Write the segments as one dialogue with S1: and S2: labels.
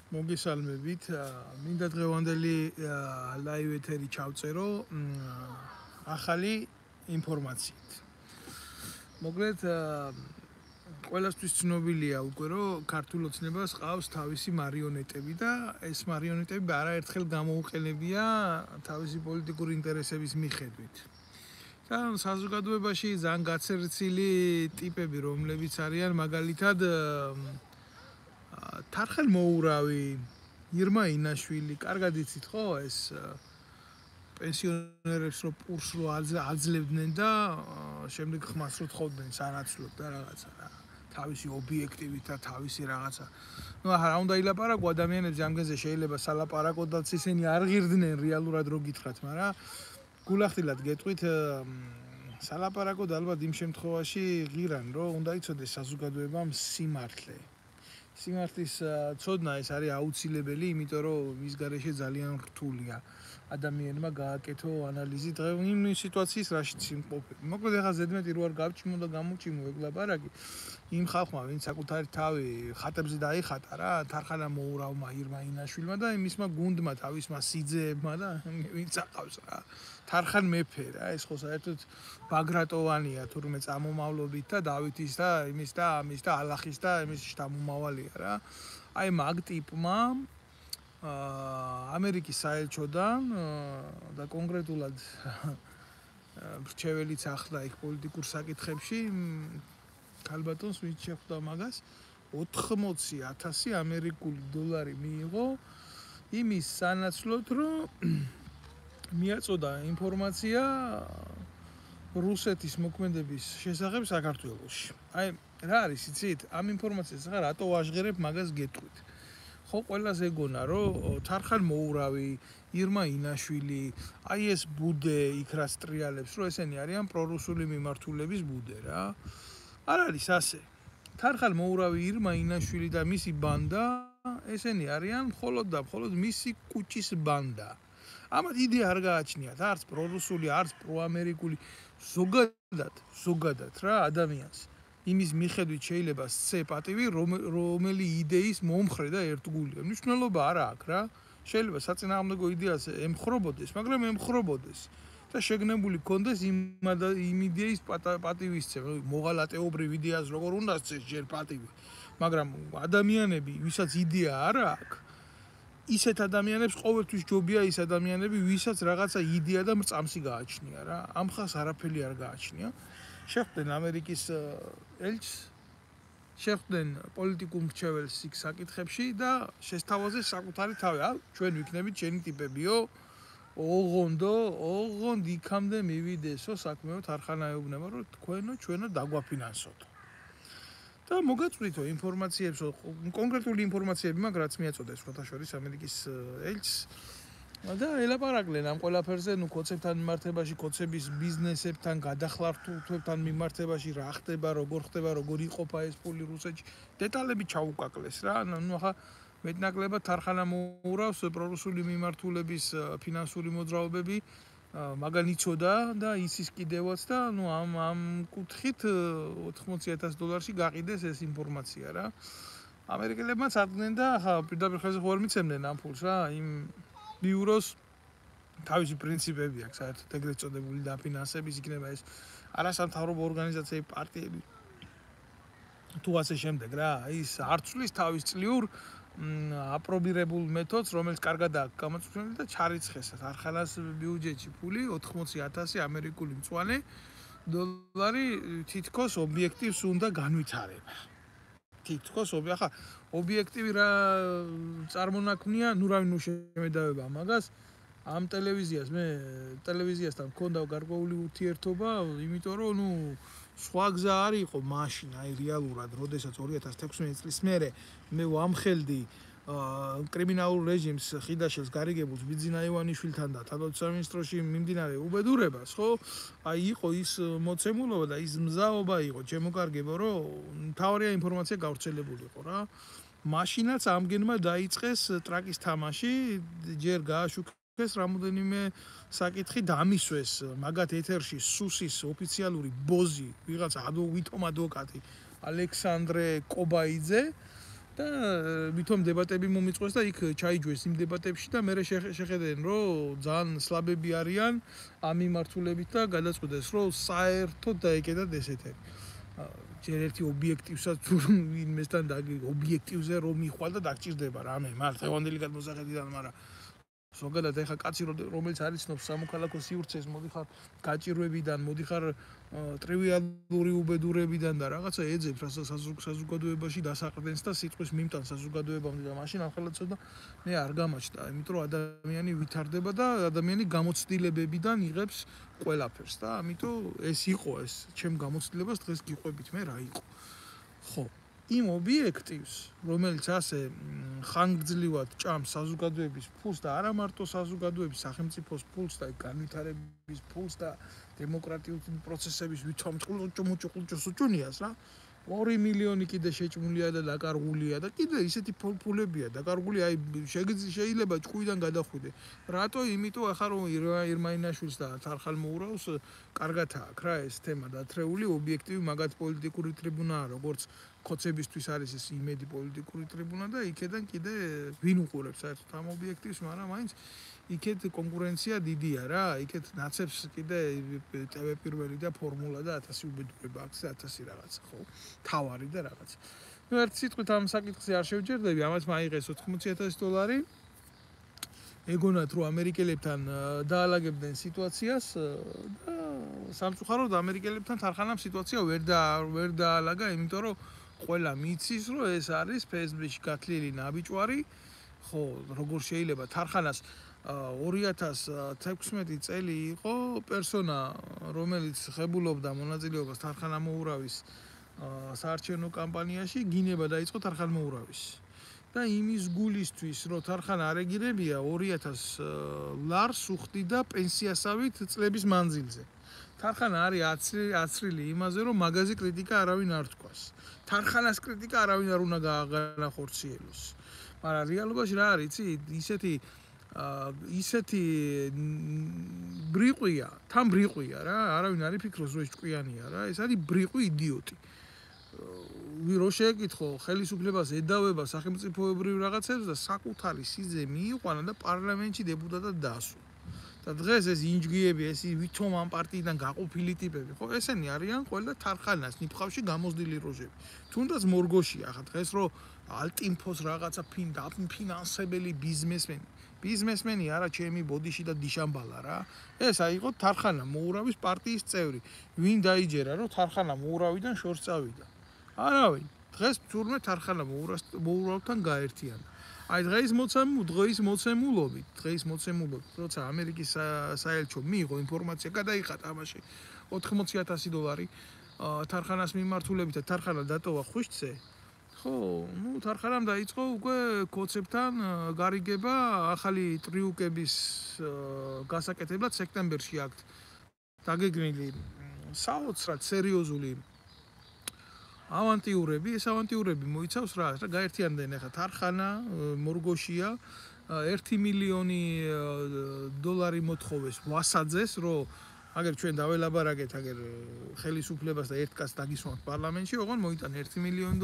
S1: მოგესალმებით. მინდა დღევანდელი ლაივ ეთერი ჩავწერო ახალი ინფორმაციით. მოკლედ ყველასთვის ცნობილია უკვე რომ ქართულ ოცნებას ყავს თავისი მარიონეტები და ეს მარიონეტები არაერთხელ გამოუყენებია თავისი პოლიტიკური ინტერესების მიხედვით. და საზოგადოებაში ძალიან გაცერცილი ტიპები რომლებიც არიან მაგალითად თარხელმოურავი ირმა ინაშვილი, კარგად იცით ხო ეს პენსიონერებს რო პურს რო აძლევდნენ და შემდეგ ხმას რო თხოვდნენ სანაცვლოდ და რაღაცა რა თავისი ობიექტივით და თავისი რაღაცა. ნუ ახლა რა უნდა ილაპარაკო ადამიანებს ამგენზე შეიძლება სალაპარაკოდაც ისინი არ ღირდნენ რეალურად რო გითხრათ, მაგრამ გულახდილად გეტყვით სალაპარაკოდ ალბათ იმ შემთხვევაში ღირან რომ უნდა იცოდეს საზოგადოებამ სიმართლე. სიმართლის ცოდნა ეს არის აუცილებელი, იმიტომ რომ მის გარეშე ძალიან რთულია ადამიანმა გააკეთო ანალიზი იმ სიტუაციის რაშიც იმყოფება. მოკლედ ახლა ზედმეტი რო არ გავჭიმო და გამოჭიმო ეგ ლაპარაკი იმ ხალხმა, ვინც საკუთარი თავი ხატებზე დაიხატა რა, თარხანა მოურავმა ირმა ინაშვილმა და იმისმა გუნდმა, თავისმა სიძეებმა და ვინც aqავს რა. თარხან მეფე რა, ეს ხო საერთოდ ბაგრატოვანია თურმე წამომავლობით და დავითის და იმის და ამის და ალახის და იმის შთამომავალია რა. აი მაგ ტიპმა ამერიკის საელჩოდან და კონკრეტულად რჩეველიც ახლა იქ პოლიტიკურ საკითხებში ქალბატონს ვინც შეხვდა მაგას 80,000 ამერიკული დოლარი მიიღო იმის სანაცვლოდ რომ მიაწოდა ინფორმაცია რუსეთის მოქმედების შესახებ საქართველოში. აი რა არის იცით? ამ ინფორმაციას ახლა რატო ვაჟღერებ მაგას გეტყვით. ხო ყველას ეგონა რომ თარხელმოურავი, ირმა ინაშვილი, აი ეს ბუდე იქ რა სტრიალებს, რომ ესენი არიან პრორუსული მიმართულების ბუდე რა. არ არის ასე. თარხელმოურავი, ირმა ინაშვილი და მისი ბანდა, ესენი არიან მხოლოდ და მხოლოდ მისი კუჭის ბანდა. ამათ იდეა არ გააჩნიათ, არც პრორუსული, არც პროამერიკული, ზოგადად რა ადამიანს. იმის მიხედვით შეიძლება სცე პატივი, რომელი იდეის მომხრე და ერთგულია. მნიშვნელობა არა აქვს რა. შეიძლება საწინააღმდეგო იდეას ემხრობოდეს, მაგრამ ემხრობოდეს და შეგნებული კონდეს იმ იდეის პატივისცემა, მოღალატეობრივ იდეას როგორ უნდა სცეს ჯერ პატივი. მაგრამ ადამიანები, ვისაც იდეა არ აქვს, ისეთ ადამიანებს ყოველთვის ჯობია ის ადამიანები, ვისაც რაღაცა იდეა და მრწამსი გააჩნია რა. ამ ხალხს არაფერი არ გააჩნია. შეხვდნენ ამერიკის ელჩს, შეხვდნენ პოლიტიკურ მრჩეველს იქ საკითხებში და შესთავაზეს საკუთარი თავი. ჩვენ ვიქნებით ჩვენი ტიპებიო, ოღონდ იქამდე მივიდესო საქმეო თარხანა ეუბნება, რომ თქვენო ჩვენო დაგვაფინანსოთ. და მოგაწვრითო ინფორმაციებს, კონკრეტული ინფორმაციები მაგ რაც მიაწოდეს ფოთაშორის ამერიკის ელჩს და ელაპარაკდნენ ამ ყველაფერზე, ნუ კოცებთან მიმართებაში, კოცების ბიზნესებთან, გადახლართულთვებთან მიმართებაში, რა ხდება, როგორ იყოფა ეს ფული რუსეთში, დეტალები ჩაუკაკლეს რა. ნუ ახლა მეტნაკლებად თარხანა მოურავს პრორუსული მიმართულების ფინანსური მოძრაობები, მაგან იცოდა და იცის კიდევაც და ნუ ამ კუთხით $80,000 გაყიდეს ეს ინფორმაცია რა. ამერიკელებმაც ადგენენ და ახლა პირდაპირ ხელზე ხო არ მიცემდნენ ამ ფულს რა, იმ ბიუროს თავისი პრინციპები აქვს, საერთოდ ეგრეთ წოდებული დაფინანსების იქნება ეს არასამთავრობო ორგანიზაციები, პარტიები თუ ასე შემდეგ რა. ის არ ცვლის თავის წლიურ აპრობირებულ მეთოდს, რომელიც კარგად აქვს გამოწვეული და ჩარიცხეს თარხანას ბიუჯეტში ფული 80,000 ამერიკული მწვანე დოლარი თითქოს ობიექტივს უნდა განვითარება. თითქოს ახლა ობიექტივი რა წარმონაქმნია, ნუ რავი ნუ შემედავება მაგას. ამ ტელევიზიასთან მქონდა გარკვეული ურთიერთობა, იმიტომ რომ ნუ სხვა გზა არ იყო მაშინ, აი რეალურად, როდესაც 2016 წლის მერე მე ვამხელდი კრიმინალურ რეჟიმს ხიდაშელს გარიგებულს ბიძინა ივანიშვილთან და თავდაცვის სამინისტროში მიმდინარე უბედურებას, ხო? აი იყო ის მოცემულობა და ის მზაობა იყო, ჩემოკარგებო, რომ მთავარია ინფორმაცია გავრცელებულიყო რა. მაშინაც ამგენმა დაიწყეს ტრაკის თამაში, ჯერ გააშუქეს რამოდენიმე საკითხი დამისვეს მაგათ ეთერში სუსის ოფიციალური ბოზი, ვიღაცა ვითომ ადვოკატი ალექსანდრე კობაიძე და ვითომ დებატები მომიწყვეს და იქ ჩაიჯვეს იმ დებატებში და მე შეხედენ რომ ძალიან სლაბები არიან ამ მიმართულებით და გადაწყვეტეს რომ საერთოდ დაეკეტათ ესეთი ჯერ ერთი ობიექტივსაც თუ ვინმესთან ობიექტივზე რომ მიხვალ და დაგჭირდება რამე მართლა ევანდელი გადმოსახედიდან მაგრამ ზოგადად ეხა კაცი რომელიც არის ცნობს სამოქალაქო სივრცეს მოდიხარ გაჭირვებიდან მოდიხარ ტრივიალური უბედურებიდან და რაღაცა ეძებს რასაც საზოგადოებაში დასაყრდენს და სიტყვის მიმტან საზოგადოებამდე და მაშინ ახლა ცოტა მე არ გამაჩნდა იმიტომ რომ ადამიანი ვითარდება და ადამიანი გამოცდილებებიდან იღებს ყველაფერს და ამიტომ ეს იყო ეს ჩემ გამოცდილებას დღეს გიყვებით მე რა იყო ხო იმ ობიექტივს, რომელიც ასე ხანგრძლივად ჭამს საზოგადოების ფულს და არა მარტო საზოგადოების სახელმწიფოს ფულს და განვითარების ფულს და დემოკრატიული პროცესების ვითომ ჭუჭუნიას რა 2 მილიონი კიდე შეჭმულია და დაკარგულია და კიდე ისეთი ფულებია დაკარგული აი შეიძლება ჭკუიდან გადახვიდე რატო იმიტომ ახლა რომ ირმაინაშვილს და თარხალ მოურავს კარგად აქვს რა ეს თემა დათრეული ობიექტივი მაგათ პოლიტიკური ტრიბუნაა როგორც ხოცებისთვის არის ეს იმედი პოლიტიკური ტრიბუნა და იქედან კიდე ვინ უყურებს საერთოდ ამ ობიექტივს მაგრამ მაინც იქეთ კონკურენცია დიდია რა იქეთ ნაცებს კიდე TV პირველი და ფორმულა და 1000 უბედურება აქვს 1000 რაღაც ხო თავარი და რაღაც ნუ ერთ სიტყვით ამ საკითხზე არ შევჯერდები ამას მაიღეს $80,000 ეგონათ რომ ამერიკელებთან დაალაგებდნენ სიტუაციას და სამწუხაროდ ამერიკელებთან თარხანამ სიტუაცია ვერ დაალაგა იმიტომ რომ ყველა მიცის რომ ეს არის ფესბუქში გათლილი ნაბიჯვარი ხო როგორ შეიძლება თარხანას 2016 წელი იყო პერსონა რომელიც ხებულობდა მონაწილეობას თარხანა მოურავის საარჩევნო კამპანიაში გინება დაიწყო თარხან მოურავის და იმის გულისთვის რომ თარხანა არეგირებია 2000 ლარს უხდიდა პენსიასავით წლების მანძილზე თარხანა არის აცრილი იმაზე რომ მაგაზი კრიტიკა არავინ არ თქვას თარხანას კრიტიკა არავინ არ უნდა გაახორციელოს მაგრამ რეალობაში რა არის იცი ისეთი ბრიყვია თან ბრიყვია რა არავინ არ იფიქროს რომ ეს ჭკვიანია რა ეს არის ბრიყვი იდიოტი რო შეეკითხო ხელისუფლებას ედავება სახელმწიფოებრივ რაღაცებს და საკუთარი სიძე მიიყვანა და პარლამენტში დეპუტატად დაასვლა და დღეს ეს ინჯგიები ეს ვითომ ამ პარტიიდან გაყოფილი ტიპები ხო ესენი არიან ყველა თარხანას ნიფხავში გამოზდილი როჟები თუნდაც მორგოშია ახლა დღეს რო ალტინფოს რაღაცა ფინანსებელი ბიზნესმენი არა ჩემი ბოდიში და დიშამბალა რა ეს აიყო თარხანა მოურავის პარტიის წევრი ვინ დაიჯერა რომ თარხანა მოურავიდან შორს წავიდა არავინ დღეს თურმე თარხანა მოურავთან გაერთიანა აი დღის მოცემულობით როცა ამერიკის საელჩო მიიღო ინფორმაცია გადაიხატა ამაში $80,000 თარხანას მიმართულებით და თარხანა დატოვა ხვიშტზე ხო ნუ თარხანამ დაიწყო უკვე კოცებთან გარიგება ახალი ტრიუკების გასაკეთებლად სექტემბერში აქვთ დაგეგმილი საოცრად სერიოზული ავანტიურები ეს ავანტიურები მოიცავს რა გაერთიანდნენ ახლა თარხანა მორგოშია $1 მილიონი მოთხოვეს ვასაძეს რომ აგერ ჩვენ დაველაბარაკეთ აგერ ხელისუფლებას და ერთ კაცს დაგისვამთ პარლამენტში ოღონ მოიტან $1 მილიონი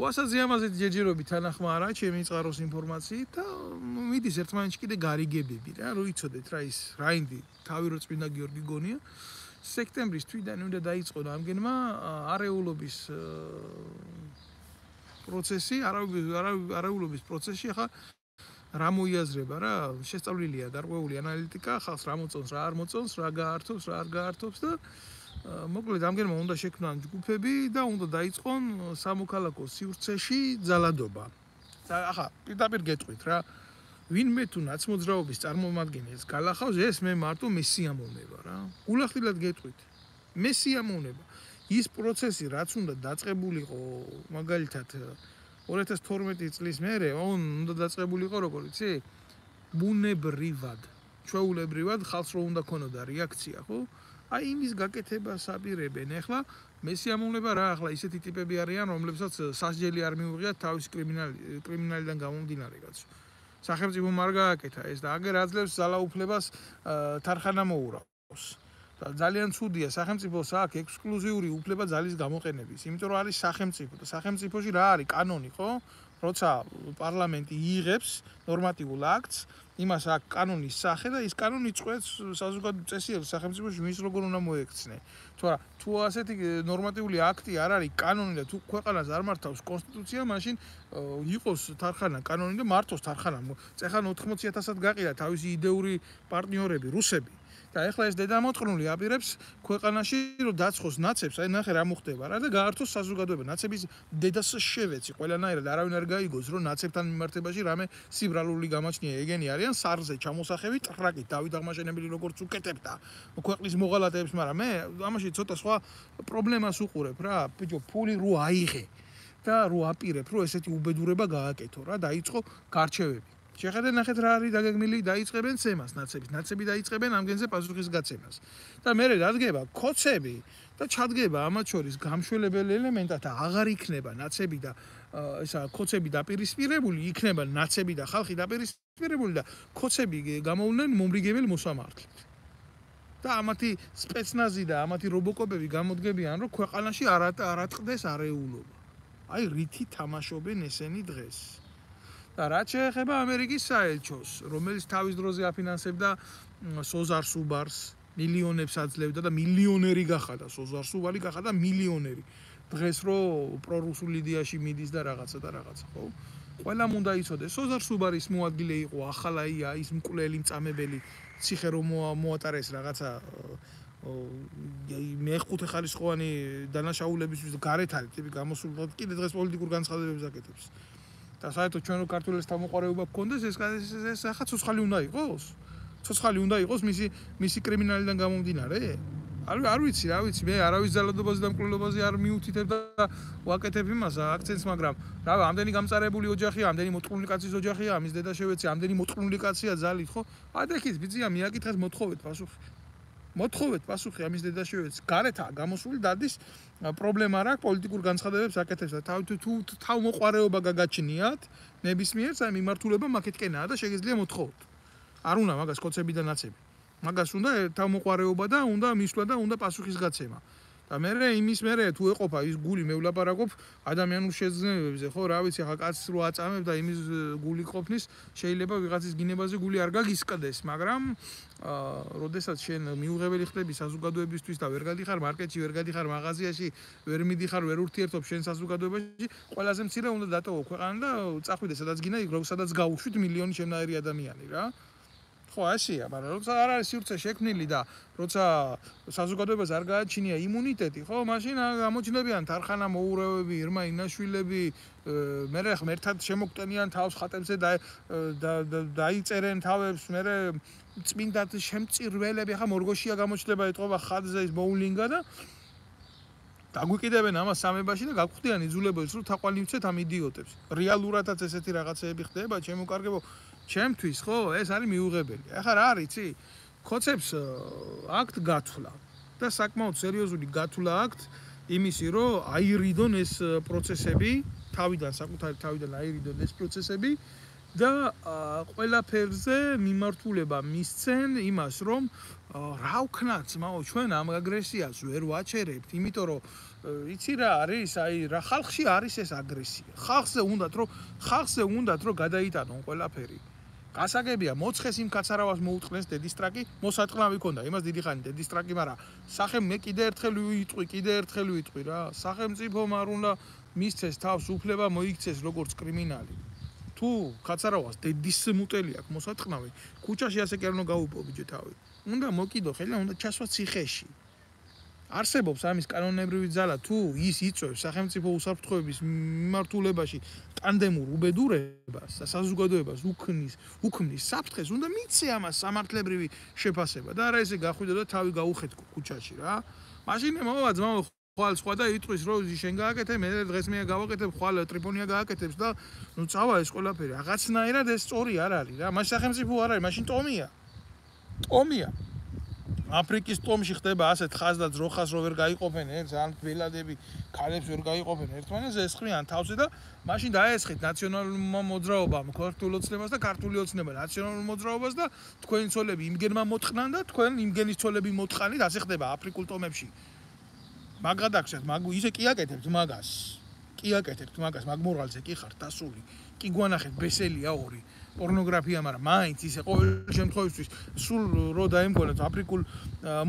S1: ვასაძე ამაზე ჯერჯერობით თანახმა არა ჩემი წყაროს ინფორმაციით და მიდის ერთმანეთში კიდე გარიგებები რა რო იცოდეთ რა ის რაინდი თავი რო წმინდა გიორგი გონია სექტემბრის თვიდან უნდა დაიწყო ამგენმა არეულობის პროცესში ახლა რა მოიაზრება რა შესწავლილია გარკვეული ანალიტიკა ხალხს რა მოწონს რა არ მოწონს რა გაართობს რა არ გაართობს და მოკლედ ამგენმა უნდა შექმნან ჯგუფები და უნდა დაიწყონ სამოქალაქო სივრცეში ძალადობა და ახლა პირდაპირ გეტყვით რა ვინმე თუ ნაცმოძრაობის წარმომადგენელს გალახავს ეს მე მარტო მესიამოვნება რა გულახდილად გეტყვით მესიამოვნება ის პროცესი რაც უნდა დაწყებულიყო მაგალითად 2012 წლის მერე უნდა დაწყებულიყო როგორ იცი ბუნებრივად ჩვეულებრივად ხალხს რო უნდა ქონოდა რეაქცია ხო აი იმის გაკეთებას აპირებენ ახლა მესიამოვნება რა ახლა ისეთი ტიპები არიან რომლებსაც სასჯელი არ მიუღიათ თავის კრიმინალიდან გამომდინარე კაცო სახელმწიფო არ გააკეთა ეს და აგერ აძლევს ძალაუფლებას თარხანა მოურავს და ძალიან ცუდია სახელმწიფოს აქვს ექსკლუზიური უფლება ძალის გამოყენების, იმიტომ რომ არის სახელმწიფო და სახელმწიფოში რა არის კანონი, ხო? როცა პარლამენტი იღებს ნორმატიულ აქტს, იმას აქვს კანონის სახე და ის კანონი წყვეტს საზოგადო წესიერ სახელმწიფოში ვის როგორ უნდა მოექცნე. თუ ასეთი ნორმატიული აქტი არ არის კანონი და თუ ქვეყანას არ მართავს კონსტიტუცია, მაშინ იყოს თარხანა კანონი და მართოს თარხანა. წეხან 80,000-ად გაყიდა თავისი იდეური პარტნიორები, რუსები. და ეხლა ეს დედამოწყნული აპირებს ქვეყანაში რომ დაცხოს ნაცებს, აი ნახე რა მოხდება რა და გაართოს საზოგადოება. ნაცების დედას შევეცი ყველანაირად არავინ არ გაიგოს რომ ნაცებთან მიმართებაში რამე სიბრალული გამაჩნია, ეგენი არიან სარზე ჩამოსახები ტრაკით დავით აღმაშენებელი როგორც უკეთებდა ქვეყნის მოღალატეებს, მაგრამ მე ამაში ცოტა სხვა პრობლემას უყურებ რა, ბიჭო, ფული რო აიღე და რო აპირებ რომ ესეთი უბედურება გააკეთო რა, დაიწყო გარჩევები. შეხედე ნახეთ რა არის დაგეგმილი, დაიწყებენ ცემას ნაცები დაიწყებენ ამ გენზე პასუხისგაცემას. და მე რადგება ქოცები და ჩადგება ამათ შორის გამშველებელი ელემენტად და აღარ იქნება ნაცები და ესა ქოცები დაპირისპირებული, იქნება ნაცები და ხალხი დაპირისპირებული და ქოცები გამოვლენ მომრიგებელ მოსამართლედ. და ამათი სპეცნაზი და ამათი რობოკოპები გამოდგებიან, რომ ქვეყანაში არ ატყდეს არეულობა. აი რითი თამაშობენ ესენი დღეს. და რაც შეეხება ამერიკის საელჩოს, რომელიც თავის დროზე აფინანსებდა სოზარ სუბარს, მილიონებს აძლევდა და მილიონერი გახადა, სოზარ სუბარი გახადა მილიონერი. დღეს რო პრორუსულ იდეაში მიდის და რაღაცა, ხო? ყველამ უნდა იცოდეს, სოზარ სუბარის მოადგილე იყო ახალაია, ის მკვლელი მწამებელი, ციხე რომ მოატარეს რაღაცა მეხუთე ხარისხოვანი დანაშაულებისთვის გარეთ არის ტიპი გამოსული, კიდე დღეს პოლიტიკურ განცხადებებს აკეთებს. და საერთოდ ჩვენ რო ქართულებს თავმოყარეობა გქონდეს, ეს ახლა ცოცხალი უნდა იყოს? ცოცხალი უნდა იყოს მისი კრიმინალიდან გამომდინარე? არ ვიცი, რა ვიცი, მე არავის ძალადობაზე და მკვლელობაზე არ მიუთითებ და ვაკეთებ იმას აქცენტს, მაგრამ რა ამდენი გამწარებული ოჯახია, ამდენი მოწყვლული კაცის ოჯახია, ამის დედა შევეცი, ამდენი მოწყვლული კაცია ძალით, ხო? ადექით ბიძია მიაკითხეთ, მოთხოვეთ პასუხი. მოთხოვეთ პასუხი ამის დედა შევეცი. გარეთაა გამოსული დადის პრობლემა რა აქვს პოლიტიკურ განცხადებებს აკეთებს და თუ თავმოყარეობა გაგაჩნიათ ნებისმიერს აი მიმართულება მაკეთკენაა და შეგიძლია მოთხოვოთ. არ უნდა მაგას კოცები და ნაცები. მაგას უნდა თავმოყარეობა და უნდა მისვლა და უნდა პასუხისგაცემა. და მერე თუ ეყოფა ის გული მე ვლაპარაკობ ადამიანურ შეძლებებზე, ხო, რა ვიცი, ახლა კაცს რო აწამებ და იმის გული ყოფნის, შეიძლება ვიღაცის გინებაზე გული არ გაგისკდეს, მაგრამ როდესაც შენ მიუღებელი ხდები საზოგადოებისთვის და ვერ გადიხარ მარკეტში, ვერ გადიხარ მაღაზიაში, ვერ მიდიხარ, ვერ ურთიერთობ შენ საზოგადოებაში, ყველაზე მცირე უნდა დატოვო ქვეყანა და წახვიდე სადაც გინდა, სადაც გაუშვით მილიონი შემნაირი ადამიანი რა. ხო, ასია, მაგრამ როცა არ არის სივრცე შექმნილი და როცა საზოგადოებას არ გააჩნია იმუნიტეტი, ხო, მაშინ გამოჩნდებიან თარხანა მოურევები, ირმა ინაშვილები, მე ერთად შემოგტენიან თავს ხატებზე და დაიწერენ თავებს, მე წმინდად შემწირველები, ახლა მორგოშია გამოჩნდება, ეთყობა ხატზე ის ბოულინგა და დაგვიკიდებენ ამას სამებაში და გაგხვდიან იძულებელს, რომ თაყვანი ვცეთ ამ იდიოტებს. რეალურადაც ესეთი რაღაცეები ხდება, ჩემო კარგებო, ჩემთვის ხო, ეს არის მიუღებელი. ახლა რა არის, იცი? ქოცებს აქვთ გათვლა და საკმაოდ სერიოზული გათვლა აქვთ იმისი, რომ აირიდონ ეს პროცესები, საკუთარი თავიდან აირიდონ ეს პროცესები და ყველაფერზე მიმართულება მისცენ იმას, რომ რა ვქნათ, ძმაო, ჩვენ ამ აგრესიას ვერ ვაჩერებთ, იმიტომ რომ იცი რა არის, აი რა ხალხში არის ეს აგრესია. ხალხზე უნდათ რომ გადაიტანონ ყველაფერი. გასაგებია, მოცხეს იმ კაცარავას მოუწყნეს დედისტრაკი, მოსატყნავი ქონდა, იმას დიდი ხანი დედისტრაკი, მაგრამ მე კიდე ერთხელ ვიტყვი რა. სახელმწიფომ არ უნდა მისცეს თავს უფლება მოიქცეს როგორც კრიმინალი. თუ კაცარავას დედის მუტელი აქვს მოსატყნავი, ქუჩაში ასე კი არ უნდა გაუპო ბიჭო თავი. უნდა მოკიდო ხელი, უნდა ჩასვა ციხეში. არსებობს ამის კანონებრივი ძალა, თუ ის იწვევს სახელმწიფო უსაფრთხოების მიმართულებაში ტანდემურ უბედურებას და საზოგადოებას უქმნის საფრთხეს, უნდა მიცე ამას სამართლებრივი შეფასება და არა ესე გახვიდო და თავი გაუხეთკო ქუჩაში რა. მაშინ მოვა ძმაო ხვალ სხვა და იტყვის რომ შენ გააკეთე, მე დღეს მე გავაკეთებ, ხვალ ტრიპონია გააკეთებს და ნუ წავა ეს ყველაფერი. რაღაცნაირად ეს სწორი არ არის რა. მაშინ სახელმწიფო არ არის, მაშინ ტომია. აფრიკის ტომში ხდება ასეთ ხაზ და ძროხას რო ვერ გაიყოფენ ერთს, ან ბელადები ქალებს ვერ გაიყოფენ ერთმანეთს, ესხმიან თავზე და მაშინ დაესხით ნაციონალურმა მოძრაობამ ქართულ ოცნებას და ქართული ოცნება ნაციონალურ მოძრაობას და თქვენი ცოლები იმგენმა მოთხნან და თქვენ იმგენის ცოლები მოთხანით, ასე ხდება აფრიკულ ტომებში. მაგადაგშეთ, ისე კი აკეთებთ მაგას. კი აკეთებთ მაგას, მაგ მორალზე კი ხართ დასული. კი გვანახეთ ბესელია ორი. პორნოგრაფია, მაგრამ მაინც ისე ყოველ შემთხვევაში სულ რო დაემგონეთ აფრიკულ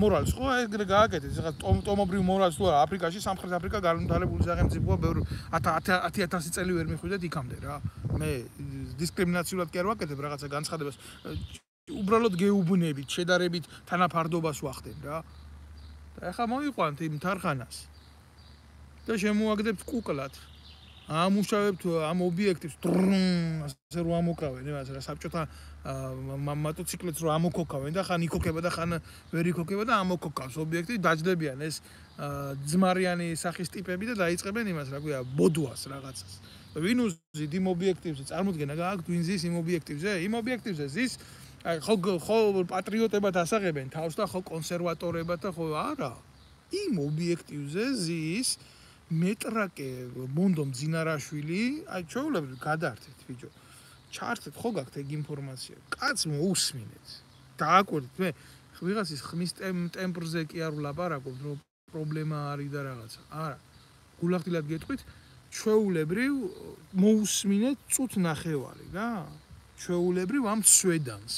S1: მორალს, ხო, ეგრე გააკეთეთ. ეხლა ტომობრივ მორალს თუ არა, აფრიკაში, სამხრეთ აფრიკა განვითარებული სახელმწიფოა, ბევრი 10,000 წელი ვერ მიხვიდეთ იქამდე რა. მე დისკრიმინაციულად კი არ ვაკეთებ რაღაცა განცხადებას. უბრალოდ გეუბნებით, შედარებით თანაფარდობას ვახდენ რა. და ეხლა მოიყვანთ იმ თარხანას. და შემოაგდებთ კუკლად. ამუშავებთ ამ ობიექტებს ასე რომ ამოკრავენ იმას რა საბჭოთა მოტოციკლებს რომ ამოკოქავენ და ხან იქოქება და ხან ვერ იქოქება და ამოკოქავს ობიექტი დაჯდებიან ეს ძმარიანი სახის ტიპები და დაიწყებენ იმას რა ქვია ბოდუას რაღაცას ვინ უზიდ იმ ობიექტივზე წარმოდგენა გააქვთ ვინ ზის იმ ობიექტივზე იმ ობიექტივზე ზის ხო პატრიოტებად ასაღებენ თავს და ხო კონსერვატორებად და ხო არა იმ ობიექტივზე ზის მეტრაკე ბონდო მძინარაშვილი, აი ჩვეულებრივ გადაართეთ ბიჭო. ჩართეთ ხო გაქვთ ეგ ინფორმაცია. კაც მოусმინეთ. დააკვირდით მე ვიღაცის ხმის ტემპრზე კი არ ვლაპარაკობ, რომ პრობლემა არის და რაღაცა. არა. გულახდილად გეტყვით, ჩვეულებრივ მოусმინეთ წუთ ნახევარი რა. ჩვეულებრივ ამ სვედანს.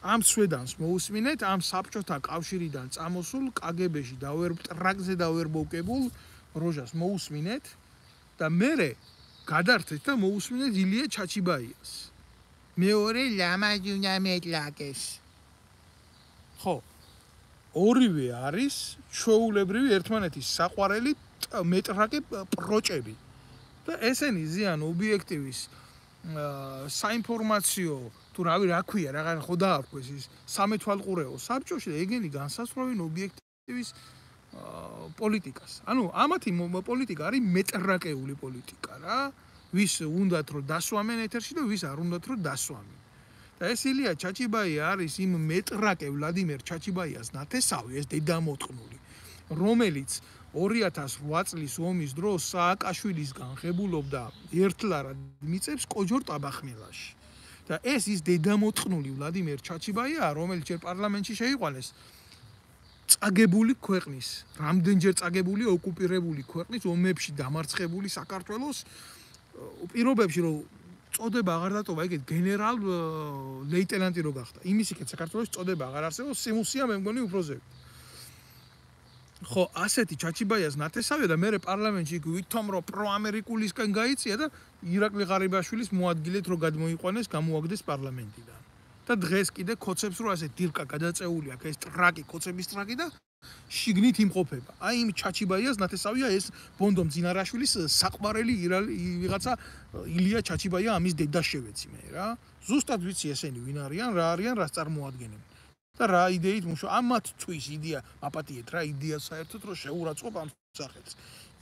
S1: ამ სვედანს მოусმინეთ ამ საბჭოთა კავშირიდან წამოსულ კგბ-ში და ვერ ტრაკზე და ვერ მოვკებულ როჟას მოусმინეთ და მერე გადართეთ და მოусმინეთ ილია ჩაჩიბაიას. მეორე ლამაჯუნა მეტლაკეს. ხო. ორივე არის ჩვეულებრივი ერთმანეთის საყვარელი მეტრაკე პროჭები. და ესენი ზიან ობიექტივის საინფორმაციო თუ რავი რა ქვია რაღაც ხო დაარქვეს ის სამეთვალყურეო საბჭოში და ეგენი განსასწრებენ ობიექტივის პოლიტიკას. ანუ ამათი პოლიტიკა არის მეტრაკეული პოლიტიკა რა. ვის უნდათ რომ დასვამენ ეთერში და ვის არ უნდათ რომ დასვამენ. და ეს ილია ჩაჩიბაია არის იმ მეტრაკე ვლადიმერ ჩაჩიბაიას ნათესავი, ეს დედამოწყნული, რომელიც 2008 წლის ომის დროს სააკაშვილისგან ღებულობდა ერთლარად მიწებს კოჯორ ტაბახმელაში. და ეს ის დედამოწყნული ვლადიმერ ჩაჩიბაია, რომელიც ჯერ პარლამენტში შეიყვანეს წაგებული ქვეყნის, რამდენჯერ წაგებული ოკუპირებული ქვეყნის ომებში დამარცხებული საქართველოს პირობებში რომ წოდება აღარ დატოვა, ეგეთ გენერალ ლეიტენანტი რო გახდა. იმის იქეთ საქართველოს წოდება აღარ არსებობს, სიმუსია მე მგონი უფრო ზევით. ხო, ასეთი ჩაჩიბაიას ნათესავია და მე პარლამენტში ვითომ რომ პროამერიკულისკენ გაიწია და ირაკლი ღარიბაშვილის მოადგილეთ რომ გადმოიყვანეს, გამოაგდეს პარლამენტიდან. და დღეს კიდე კოცებს რო ასე დირკა გადაწეული აქვს ეს ტრაკი, კოცების ტრაკი და შიგნით იმყოფება. აი იმ ჩაჩიბაიას ნათესავია ეს ბონდო მძინარაშვილის საყვარელი ვიღაცა ილია ჩაჩიბაია ამის დედა შევეცი მე რა. ზუსტად ვიცი ესენი ვინ არიან, რა არიან, რას წარმოადგენენ. და რა იდეით მუშაობ ამათთვის იდეა აპატიეთ რა იდეა საერთოდ რომ შეურაცხყოფ ამ სახელს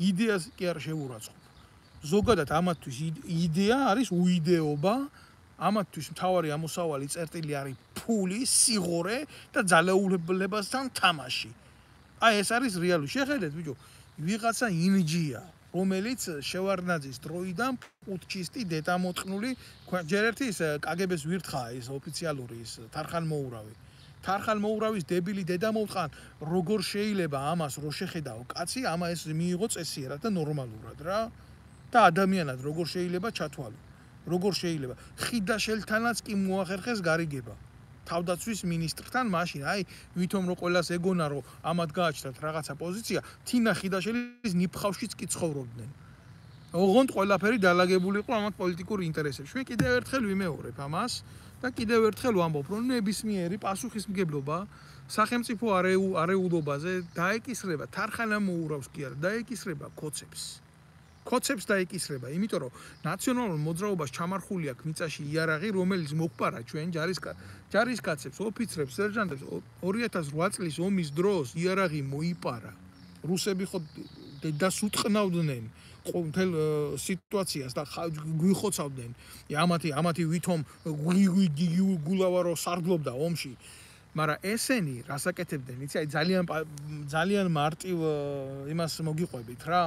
S1: იდეას კი არ შეურაცხყოფ ზოგადად ამათთვის იდეა არის უიდეობა ამათთვის მთავარი ამოსავალი წერტილი არის ფული სიღორე და ძალაუფლებასთან თამაში აი ეს არის რეალური შეხედეთ ბიჭო ვიღაცა ინჯია რომელიც შევარდნაძის დროიდან პუტჩისტი დედამოწყნული ჯერ ერთი ის კგბ-ს ვირთხაა ის ოფიციალური ის თარხანმოურავი თარხანმოურავის დებილი დედამოწყან როგორ შეიძლება ამას რო შეხედაო კაცი ამა ეს მიიღო წესიერად და ნორმალურად რა და ადამიანად როგორ შეიძლება ჩათვალო როგორ შეიძლება ხიდაშელთანაც კი მოახერხეს გარიგება თავდაცვის მინისტრთან მაშინ აი ვითომ რო ყველას ეგონა რომ ამათ გააჩნდათ რაღაცა პოზიცია თინა ხიდაშელის ნიფხავშიც კი ცხოვრობდნენ ოღონდ ყველაფერი დალაგებული იყო ამათ პოლიტიკურ ინტერესებში მე კიდევ ერთხელ ვიმეორებ ამას და კიდევ ერთხელ ვამბობ რომ ნებისმიერი პასუხისმგებლობა სახელმწიფო არეულობაზე დაეკისრება თარხანამოურავს კი არა დაეკისრება კოცებს დაეკისრება იმიტომ რომ ნაციონალურ მოძრაობას ჩამარხული აქვს მიწაში იარაღი რომელიც მოყპარა ჩვენ ჯარისკაცებს ოფიცრებს სერჟანტებს 2008 წლის ომის დროს იარაღი მოიპარა რუსები ხო დედას უტყნავდნენ ყოველ სიტუაციას და გვიხოცავდნენ ამათი ვითომ გულავარო სარდლობდა ომში მაგრამ ესენი რასაკეთებდნენ, იცი, აი ძალიან მარტივ იმას მოგიყვებით რა,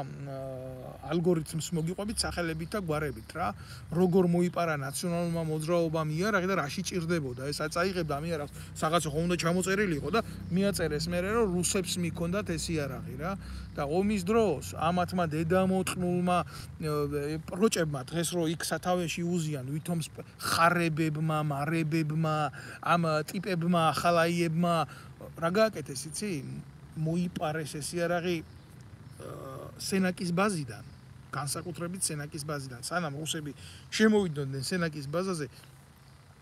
S1: ალგორითმს მოგიყვებით სახელებით და გვარებით რა, როგორ მოიპარა ნაციონალურმა მოძრაობამ იარაღი და რაში ჭირდებოდა. ეს აწაიღებდა ამ იარაღს, რაღაცა ხომ უნდა ჩამოწერილი იყო და მიაწერეს მერე რომ რუსებს მიქონდათ ეს იარაღი რა. და ომის დროს ამათმა დედამოწყნულმა პროჭებმა დღეს რო იქ სათავეში უზიან ვითომ ხარებებმა, მარებებმა, ამ ტიპებმა, ახალაიებმა რა გააკეთეს, იცი? მოიპარეს ეს იარაღი სენაკის ბაზიდან, განსაკუთრებით სენაკის ბაზიდან. სანამ რუსები შემოვიდნენ სენაკის ბაზაზე,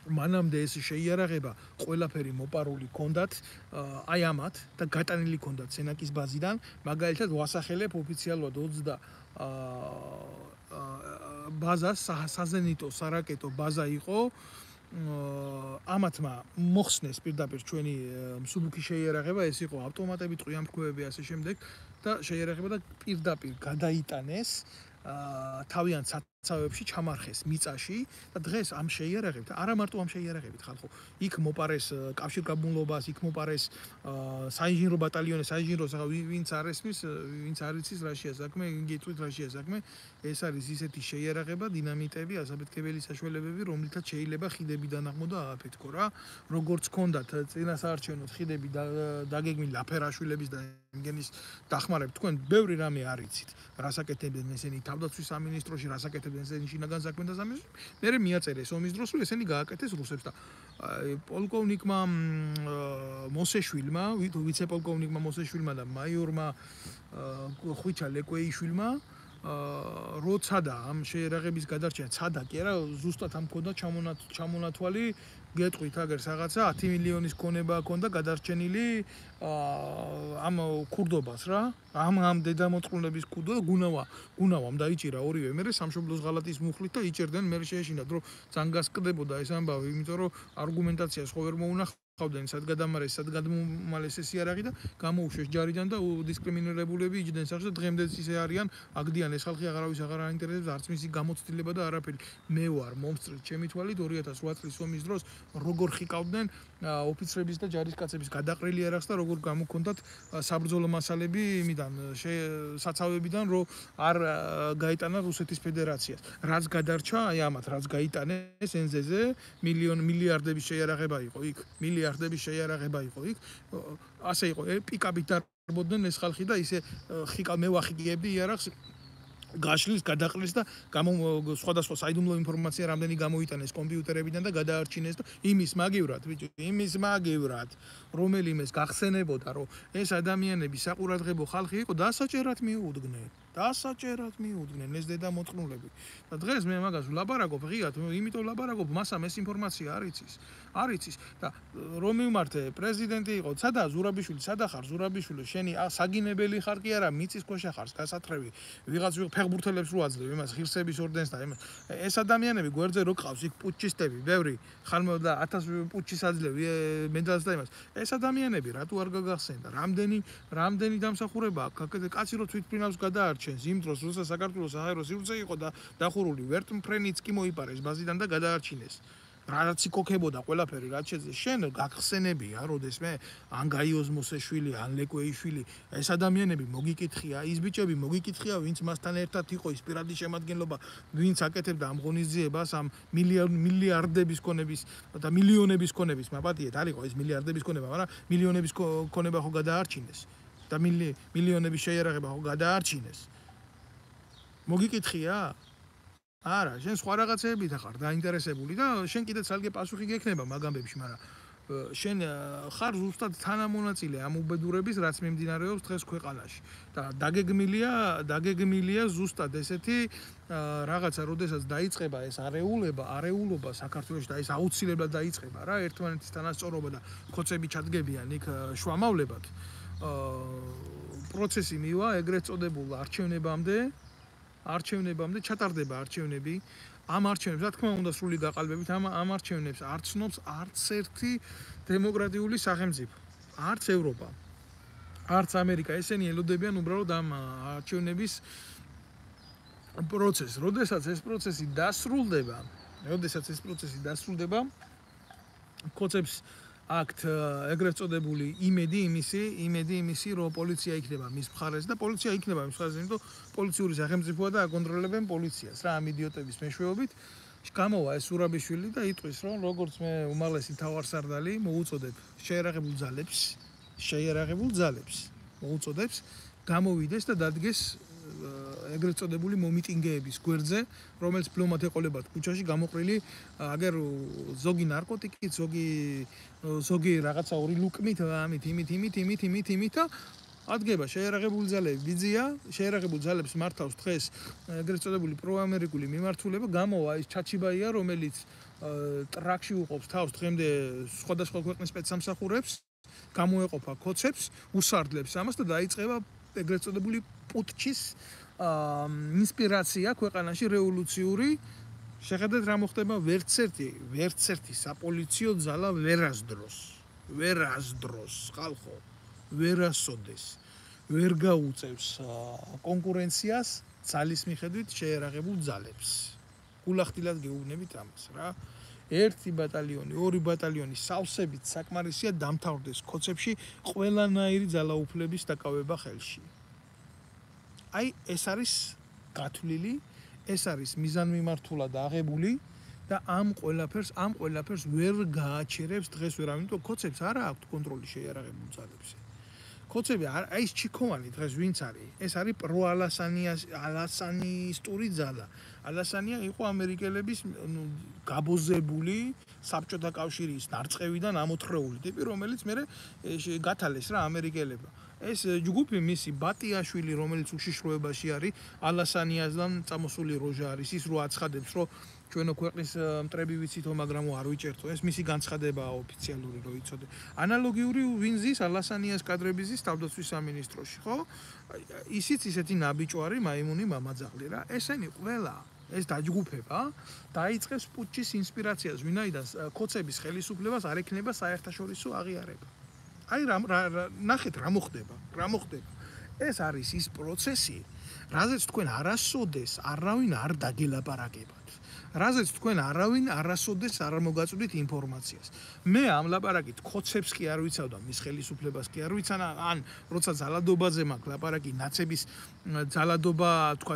S1: მანამდე ეს შეიარაღება ყველაფერი მოპარული ჰქონდათ აი ამათ და გატანილი ჰქონდათ სენაკის ბაზიდან, მაგალითად ვასახელებ ოფიციალურად 20 ბაზა, საზენიტო სარაკეტო ბაზა იყო. ამათმა მოხსნეს პირდაპირ ჩვენი მსუბუქი შეიარაღება, ეს იყო ავტომატები, ტყვიამფრქვევები ასე შემდეგ და შეიარაღება და პირდაპირ გადაიტანეს თავიანთ საცავებში ჩამარხეს მიწაში და დღეს ამ შეიარაღებით, არა მარტო ამ შეიარაღებით ხალხო, იქ მოპარეს კავშირგაბმულობას, იქ მოპარეს საინჟინრო ბატალიონი, საინჟინრო ვინც არ ესმის, ვინც არ იცის რაშია საქმე, გიწვით რაშია საქმე, ეს არის ისეთი შეიარაღება, დინამიტები, ასაფეთქებელი საშუალებები, რომლითაც შეიძლება ხიდები დანაღმო და ააფეთქო რა, როგორც ჰქონდათ წინასაარჩევნო ხიდები დაგეგმილი აფერაშვილების და იმგენის დახმარებით, თქვენ ბევრი რამე არ იცით, რასაკეთებდნენ ესენი თავდაცვის სამინისტროში, რასაკეთებდნენ ესენი შინაგან საქმეთა სამინისტროში, მერე მიაწერეს ომის დროს, რომ ესენი გააკეთეს რუსებს და პოლკოვნიკმა მოსეშვილმა, ვიცე-პოლკოვნიკმა მოსეშვილმა და მაიორმა ხვიჩა ლეკვეიშვილმა როცა და ამ შეიარაღების გადარჩენა ცადა კი არა, ზუსტად ამ ქონდა ჩამონათვალი, გეტყვით აგერ რაღაცა 10 მილიონის ქონება ქონდა გადარჩენილი ამ ქურდობას რა, ამ დედამოწყნულების ქურდო გუნავამ დაიჭირა ორივე, მერე სამშობლოს ღალატის მუხლით და იჭერდნენ, მერე შეეშინათ რომ ძანგასკდებოდა ეს ამბავი, იმიტომ რომ არგუმენტაციას ხო ვერ მოუნახავდნენ სად გადამარეს, სად გადმომალეს ეს იარაღი და გამოუშვეს ჯარიდან და დისკრიმინირებულები იჯდნენ სახში და დღემდე ისე არიან, აგდიან ეს ხალხი აღარავის აღარ აინტერესებს, არც მისი გამოცდილება და არაფერი. მე ვარ მომსწრე ჩემი თვალით 2008 წლის ომის დროს როგორ ხიკავდნენ ოფიცრების და ჯარისკაცების გადაყრილი იარაღს და როგორ გამოქონდათ საბრძოლო მასალები იმიდან საცავებიდან რომ არ გაიტანა რუსეთის ფედერაციას. რაც გადარჩა, აი ამათ რაც გაიტანეს NZ-ზე, მილიარდების შეიარაღება იყო იქ, მილიარდების შეიარაღება იყო იქ. ასე იყო, პიკაპით დარბოდნენ ეს ხალხი და ისე მე ვახიკიებდი იარაღს გაშლის, გადაყრილს და სხვადასხვა საიდუმლო ინფორმაცია რამდენი გამოიტანეს კომპიუტერებიდან და გადაარჩინეს და იმის მაგივრად, ბიჭო, იმის მაგივრად, რომელიმეს გახსენებოდა, რომ ეს ადამიანები საყურადღებო ხალხი იყო, დასაჭერად მიუდგნენ. დასაჭერად მიუდგნენ ეს დედამოწყნულები. და დღეს მე მაგას ვლაპარაკობ ღიად, იმიტომ ვლაპარაკობ, მასამ ეს ინფორმაცია არ იცის. არ იცის და რომ მივმართე პრეზიდენტი იყო, სადა ზურაბიშვილი, სადა ხარ ზურაბიშვილი, შენი საგინებელი ხარ კი არა, მიწის ქვეშა ხარ, გასათრევი, ვიღაც ფეხბურთელებს რო აძლევ, იმას ღირსების ორდენს და იმას. ეს ადამიანები გვერდზე რო ყავს, იქ პუტჩისტები, ბევრი, ხალხო და 1000 პუტჩის აძლევ მედალს და იმას. ეს ადამიანები რატო არ გაგახსენდა? რამდენი დამსახურება აქვს? კაცი რო თვითმფრინავს გადაარჩენს, იმ დროს როცა საქართველოს საჰაერო სივრცე იყო და დახურული ვერტმფრენიც კი მოიპარეს ბაზიდან და გადაარჩინეს. რაც იქოქებოდა ყველაფერი, რაც შეძლეს, შენ გახსენებია, როდესმე ან გაიოს მოსეშვილი, ან ლეკვეიშვილი, ეს ადამიანები მოგიკითხია, ის ბიჭები მოგიკითხია, ვინც მასთან ერთად იყო, ის პირადი შემადგენლობა, ვინც აკეთებდა ამ ღონისძიებას, ამ მილიარდების ქონების და მილიონების ქონების, მაპატიეთ, არ იყო ეს მილიარდების ქონება, მაგრამ მილიონების ქონება ხო გადაარჩინეს და მილიონების შეიარაღება ხო გადაარჩინეს. მოგიკითხია? არა, შენ სხვა რაღაცეებით ხარ დაინტერესებული და შენ კიდე ცალკე პასუხი გექნება მაგ ამბებში, მაგრამ შენ ხარ ზუსტად თანამონაწილე ამ უბედურების, რაც მიმდინარეობს დღეს ქვეყანაში. და დაგეგმილია ზუსტად ესეთი რაღაცა, როდესაც დაიწყება ეს არეულობა საქართველოში და ეს აუცილებლად დაიწყება რა, ერთმანეთის თანასწორობა და ხოცები ჩადგებიან იქ შუამავლებად. პროცესი მივა ეგრეთ წოდებულ არჩევნებამდე ჩატარდება არჩევნები. ამ არჩევნებს, რა თქმა უნდა, სრული გაყალბებით, ამ არჩევნებს არ ცნობს არც ერთი დემოკრატიული სახელმწიფო, არც ევროპა, არც ამერიკა. ესენი ელოდებიან უბრალოდ ამ არჩევნების პროცესს. როდესაც ეს პროცესი დასრულდება, ხოცებს აქვთ ეგრეთ წოდებული იმედი იმისი, რომ პოლიცია იქნება მის მხარეს და პოლიცია იქნება მის მხარეს, იმიტომ პოლიციური სახელმწიფოა და აკონტროლებენ პოლიციას რა ამ იდიოტების მეშვეობით. გამოვა ეს ურაბიშვილი და იტყვის, რომ როგორც მე უმაღლესი მთავარსარდალი მოუწოდებ შეიარაღებულ ძალებს მოუწოდებს გამოვიდეს და დადგეს ეგრეთ წოდებული მომიტინგეების გვერდზე, რომელიც ფლომად ეყოლებათ ქუჩაში გამოყრილი აგერ ზოგი ნარკოტიკით, ზოგი რაღაცა ორი ლუკმით, იმით და ადგება შეიარაღებული ძალები ბიძია, შეიარაღებულ ძალებს მართავს დღეს ეგრეთ წოდებული პროამერიკული მიმართულება, გამოვა ის ჩაჩიბაია, რომელიც ტრაქში უყობს თავს დღემდე სხვადასხვა ქვეყნის სპეცსამსახურებს, გამოეყოფა ქოცებს, უსარდლებს ამას და დაიწყება ეგრეთ წოდებული პუტჩის ინსპირაცია ქვეყანაში რევოლუციური. შეხედეთ რა მოხდება, ვერც ერთი საპოლიციო ძალა ვერასდროს ხალხო ვერასოდეს ვერ გაუწევს კონკურენციას ძალის მიხედვით შეიარაღებულ ძალებს. გულახდილად გეუბნებით ამას რა. 1 ბატალიონი, 2 ბატალიონი სავსებით საკმარისია დამთავრდეს ქოცებში ყველანაირი ძალაუფლების დაკავება ხელში. აი ეს არის გათვლილი, ეს არის მიზანმიმართულად აღებული და ამ ყველაფერს ვერ გააჩერებს დღეს ვერავინ, იმიტომ ქოცებს არა აქვთ კონტროლი შეიარაღებულ ძალებზე. ქოცები აი ეს ჩიქოვანი დღეს ვინც არის? ეს არის ალასანისტური ძალა. ალასანია იყო ამერიკელების გაბოზებული საბჭოთა კავშირის ნარწყევიდან ამოთხრეული ტიპი, რომელიც მე გათალეს რა ამერიკელებმა. ეს ჯგუფი მისი ბატიაშვილი, რომელიც უშიშროებაში არის, ალასანიასთან წამოსული როჟა არის, ის რო აცხადებს, რომ ჩვენო ქვეყნის მტრები ვიცითო, მაგრამ არ ვიჭერთო, ეს მისი განცხადებაა ოფიციალური, რო იცოდე. ანალოგიური ვინზის ალასანიას კადრების ზის თავდაცვის სამინისტროში, ხო? ისიც ისეთი ნაბიჯვარი მაიმუნი მამაძაღლი რა. ესენი ყველა ეს დაჯგუფება დაიწყებს პუტჩის ინსპირაციას, ვინაიდან ქოცების ხელისუფლებას არ ექნება საერთაშორისო აღიარება. აი ნახეთ რა მოხდება. ეს არის ის პროცესი, რაზეც თქვენ არასოდეს არავინ არ დაგელაპარაკებათ. რაზეც თქვენ არავინ არასოდეს არ მოგაწვდით ინფორმაციას. მე ამ ლაპარაკით ქოცებს კი არ ვიცავ და მის ხელისუფლებას კი არ ვიცანა, ან როცა ძალადობაზე მაქვს ლაპარაკი, ნაცების ძალადობა, თქვა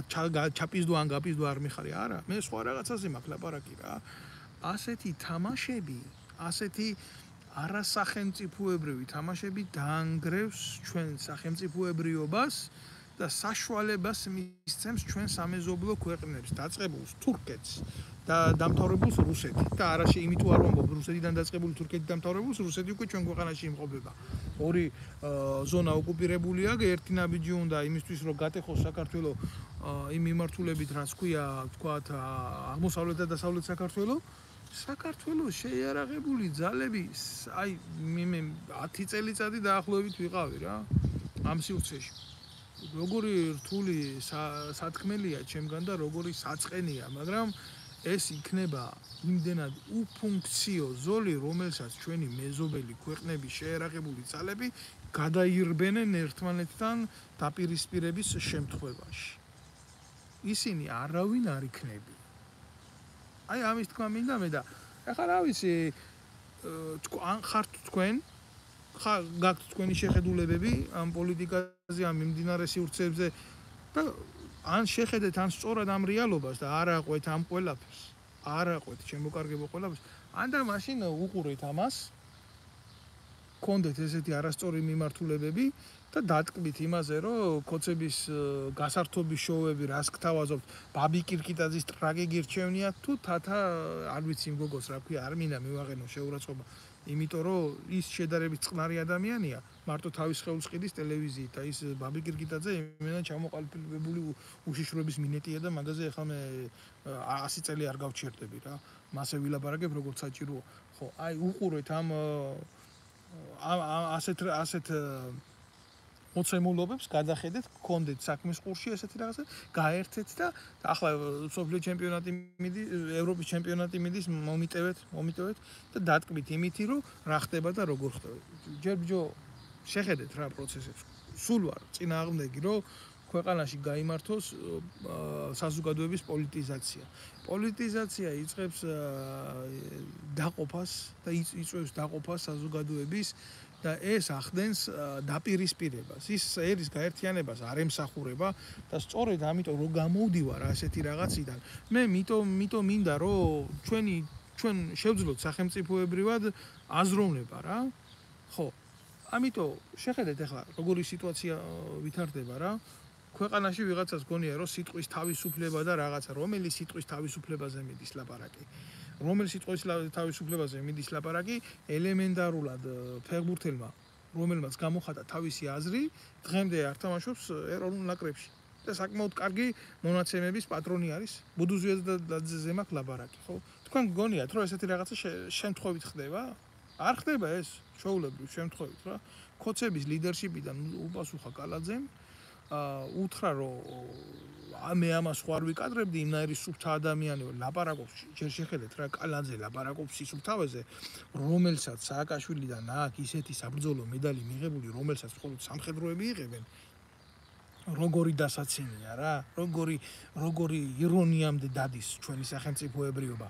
S1: ჩაპიზდო ან გაპიზდო არ მიხარი, არა, მე სხვა რაღაცაზე მაქვს ლაპარაკი რა. ასეთი თამაშები, ასეთი არასახელმწიფოებრივი თამაშები დაანგრევს ჩვენ სახელმწიფოებრიობას და საშუალებას მისცემს ჩვენ სამეზობლო ქვეყნებს, დაწყებულს თურქეთს და დამთავრებულს რუსეთით. და არაში იმიტომ არ ვამბობ რუსეთიდან დაწყებული თურქეთით დამთავრებულს, რუსეთი უკვე ჩვენ ქვეყანაში იმყოფება. ორი ზონა ოკუპირებულია, ერთი ნაბიჯი უნდა იმისთვის, რომ გატეხოს საქართველო იმ მიმართულებით, რაც ქვია, თქვათ, აღმოსავლეთ და დასავლეთ საქართველოს შეიარაღებული ძალები, აი მე 10 წელიწადი დაახლოებით ვიყავი რა ამ სივრცეში. როგორი რთული სათქმელია ჩემგან და როგორი საწყენია, მაგრამ ეს იქნება იმდენად უფუნქციო ზოლი, რომელსაც ჩვენი მეზობელი ქვეყნების შეიარაღებული ძალები გადაირბენენ ერთმანეთთან დაპირისპირების შემთხვევაში. ისინი არავინ არ იქნება. აი ამის თქვა მინდა მე და ახლა რა ვიცი, ან ხართ თქვენ გაქვთ თქვენი შეხედულებები ამ პოლიტიკაზე, ამ მიმდინარე სივრცეებზე და ან შეხედეთ ან სწორად ამ რეალობას და არ აყვეთ ამ ყველაფერს, არ აყვეთ შემოკარგებო ყველაფერს, ან და მაშინ უყურეთ ამას, გქონდეთ ესეთი არასწორი მიმართულებები და დატკბით იმაზე, რომ ქოცების გასართობის შოუები რას გთავაზობთ, ბაბი კირკიტაძის ტრაგი გირჩევნია თუ თათა არ ვიცი მგოგოს რა ქვია, არ მინდა მივაღენო შეურაცხყოფა. იმიტომ რომ ის შედარებით წყნარი ადამიანია, მარტო თავის ხელს ყიდის ტელევიზიით და ის ბაბი კირკიტაძე იმენა ჩამოყალიბებული უშიშროების მინეტია და მაგაზე ახლა მე 100 წელი არ გავჩერდები რა. მასე ვილაპარაკებ როგორც საჭიროა. ხო, აი უყურეთ ამ ასეთ მოცემულობებს, გადახედეთ, გქონდეთ საქმის ყურში ესეთი რაღაცა, გაერთეთ და ახლა სოფლიო ჩემპიონატი მიდის, ევროპის ჩემპიონატი მიდის, მომიტევეთ და დატკბით იმითი, რომ რა ხდება და როგორ ხდება. ჯერ შეხედეთ რა პროცესებს. სულ ვარ წინააღმდეგი, რომ ქვეყანაში გაიმართოს საზოგადოების პოლიტიზაცია. პოლიტიზაცია იწყებს დაყოფას და იწვევს დაყოფას საზოგადოების და ეს ახდენს დაპირისპირებას. ის ერის გაერთიანებას არ ემსახურება და სწორედ ამიტომ რომ გამოვდივარ ასეთი რაღაციდან, მე მითო მინდა რომ ჩვენ შევძლოთ სახელმწიფოებრივად აზროვნება რა. ხო. ამიტომ შეხედეთ ახლა როგორი სიტუაცია ვითარდება რა. ქვეყანაში ვიღაცას გონია რომ სიტყვის თავისუფლება და რაღაცა რომელი სიტყვის თავისუფლებაზე მიდის ლაპარაკი. რომელი სიტყვის თავისუფლებაზე მიდის ლაპარაკი ელემენტარულად ფეხბურთელმა რომელმაც გამოხატა თავისი აზრი დღემდე არ თამაშობს ეროვნულ ნაკრებში და საკმაოდ კარგი მონაცემების პატრონი არის ბუდუზიაძეზე მაქვს ლაპარაკი ხო თქვენ გგონიათ რომ ესეთი რაღაცა შემთხვევით ხდება არ ხდება ეს ჩვეულებრივ შემთხვევით რა ქოცების ლიდერშიპიდან უპასუხა კალაძემ უთხრა რომ მე ამას ხوار ვიკადრებდი იმნაირი სუფთა ადამიანი ლაპარაკობს ჯერ შეხედეთ რა კალაძე ლაპარაკობს სისუფთავეზე რომელსაც სააკაშვილიდან აქვს ისეთი საბრძოლო მედალი მიღებული რომელსაც მხოლოდ სამხედროები იღებენ როგორი დასაცინია რა როგორი ირონიამდე დადის ჩვენი სახელმწიფოებრიობა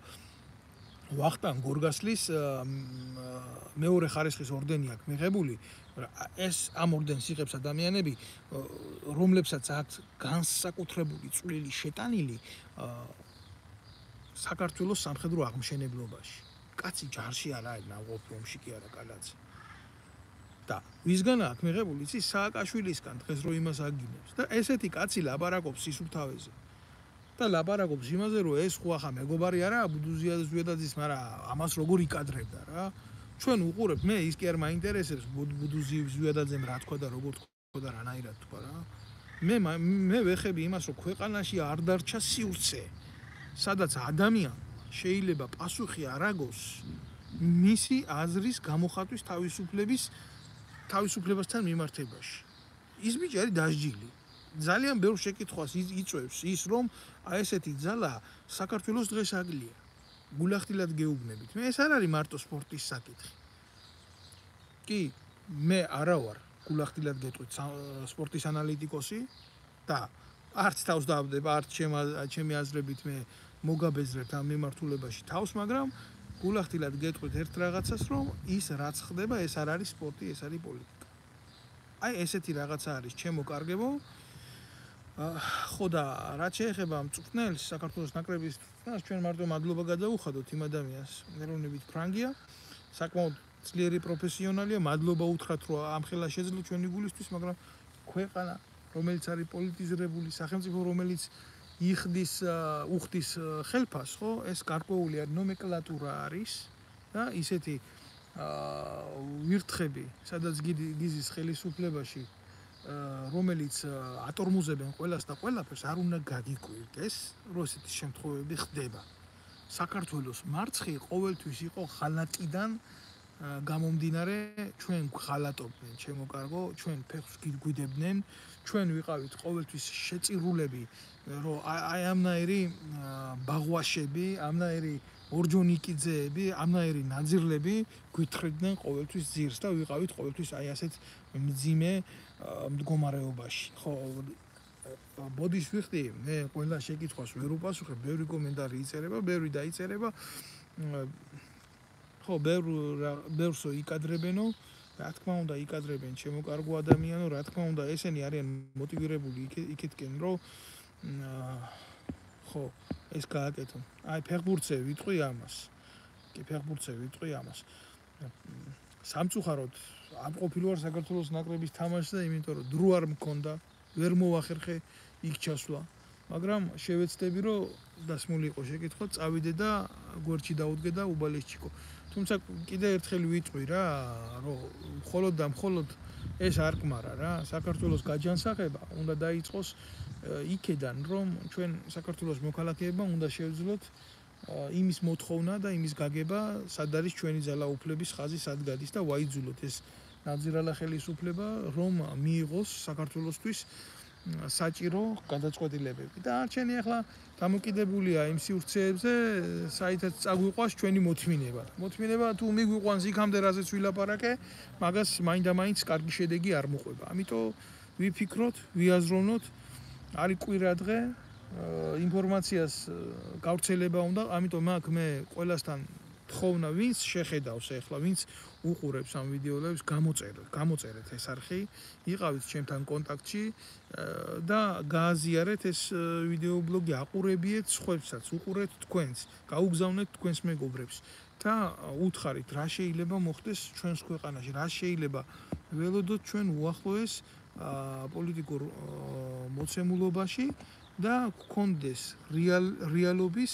S1: ვახტანგ გორგასლის მეორე ხარისხის ორდენი აქვს მიღებული ეს ამ ორდენს იღებს ადამიანები რომლებსაც აქვს განსაკუთრებული წვლილი შეტანილი საქართველოს სამხედრო აღმშენებლობაში კაცი ჯარში არ არის ნავყოფი ომში კი არა კალაძე და ვისგან აქვს მიღებული იცი სააკაშვილისგან დღეს რო იმას აგინებს და ესეთი კაცი ლაპარაკობს სისუფთავეზე და ლაპარაკობს იმაზე რომ ეს ხო ახლა მეგობარი არაა ბუდუზიაძის მაგრამ ამას როგორ იკადრებდა რა ჩვენ უყურებთ მე ის კი არ მაინტერესებს ბუდუზიაძემ რა თქვა და როგორ თქვა და რანაირად თქვა რა მე ვეხები იმას რომ ქვეყანაში არ დარჩა სივრცე სადაც ადამიანი შეიძლება პასუხი არ აგოს მისი აზრის გამოხატვის თავისუფლებასთან მიმართებაში ის ბიჭი დასჯილი ძალიან ბევრ შეკითხვას იწვევს ის რომ აი ესეთი ძალა საქართველოს დღეს აგლია გულახდილად გეუბნებით მე ეს არ არის მარტო სპორტის საკითხი კი მე არა ვარ გულახდილად გეტყვით სპორტის ანალიტიკოსი და არც თავს დავდება არც ჩემი აზრებით მე მოგაბეზრებთ ამ მიმართულებაში თავს მაგრამ გულახდილად გეტყვით ერთ რაღაცას რომ ის რაც ხდება ეს არ არის სპორტი ეს არის პოლიტიკა აი ესეთი რაღაცა არის ჩემო კარგებო ხო და რაც შეეხება მწვრთნელს საქართველოს ნაკრების მწვრთნელს ჩვენ მარტო მადლობა გადავუხადოთ იმ ადამიანს ეროვნებით ფრანგია საკმაოდ ძლიერი პროფესიონალია მადლობა უთხრათ რომ ამ ხელა შეძლო ჩვენი გულისთვის მაგრამ ქვეყანა რომელიც არის პოლიტიზირებული სახელმწიფო რომელიც უხდის ხელფას ხო ეს გარკვეული ნომენკლატურა არის და ისეთი ვირთხები სადაც გიზის ხელისუფლებაში რომელიც ატორმუზებენ ყველას და ყველაფერს არ უნდა გაგიკვირდეს რომ ესეთი შემთხვევები ხდება საქართველოს მარცხი ყოველთვის იყო ღალატიდან გამომდინარე ჩვენ ღალატობდნენ ჩემო კარგო ჩვენ ფეხს გვიდებდნენ ჩვენ ვიყავით ყოველთვის შეწირულები რომ აი ამნაირი ბაღვაშები ამნაირი ორჯონიკიძეები ამნაირი ნაძირლები გვითხრიდნენ ყოველთვის ძირს და ვიყავით ყოველთვის აი ასეთ მძიმე მდგომარეობაში ხო ბოდიშ ვიხდი მე ყველა შეკითხვას ვერ უპასუხებ ბევრი კომენტარი იწერება ბევრი დაიწერება ხო ბევრსო იკადრებენო რა თქმა უნდა იკადრებენ ჩემო კარგო ადამიანო რა თქმა უნდა ესენი არიან მოტივირებული იქითკენ რომ ხო ეს გააკეთონ აი ფეხბურთზე ვიტყვი ამას კი ფეხბურთზე ვიტყვი ამას სამწუხაროდ არ ყოფილვარ საქართველოს ნაკრების თამაშზე იმიტომ რომ დრო არ მქონდა ვერ მოვახერხე იქ ჩასვლა მაგრამ შევეცდები რომ დასმული იყო შეკითხვა წავიდე და გვერდში დაუდგე და უბალესჩიკო თუმცა კიდე ერთხელ ვიტყვი რა რომ მხოლოდ და მხოლოდ ეს არ კმარა რა საქართველოს გაჯანსაღება უნდა დაიწყოს იქედან რომ ჩვენ საქართველოს მოქალაქეებმა უნდა შევძლოთ იმის მოთხოვნა და იმის გაგება სად არის ჩვენი ძალაუფლების ხაზი სად გადის და ვაიძულოთ ეს ნაძირალა ხელისუფლება რომ მიიღოს საქართველოსთვის საჭირო გადაწყვეტილებები და არჩენი ახლა დამოკიდებულია იმ სივრცეებზე საითაც წაგვიყვას ჩვენი მოთმინება თუ მიგვიყვანს იქამდე რაზეც ვილაპარაკე მაგას მაინდა-მაინც კარგი შედეგი არ მოყვება ამიტომ ვიფიქროთ ვიაზროვნოთ არის კვირა დღე ინფორმაციას გავრცელება უნდა, ამიტომ მაგ მე ყველასთან თხოვნა, ვინც შეხედავს ახლა, ვინც უყურებს ამ ვიდეოებს, გამოწერეთ ეს არხი, იყავით ჩემთან კონტაქტში და გააზიარეთ ეს ვიდეო ბლოგი, აყურებიეთ სხვებსაც, უყურეთ თქვენს, გაუგზავნეთ თქვენს მეგობრებს და უთხარით, რა შეიძლება მოხდეს ჩვენს ქვეყანაში, რა შეიძლება ველოდოთ ჩვენ უახლოეს პოლიტიკურ მოცემულობაში და გქონდეს რეალობის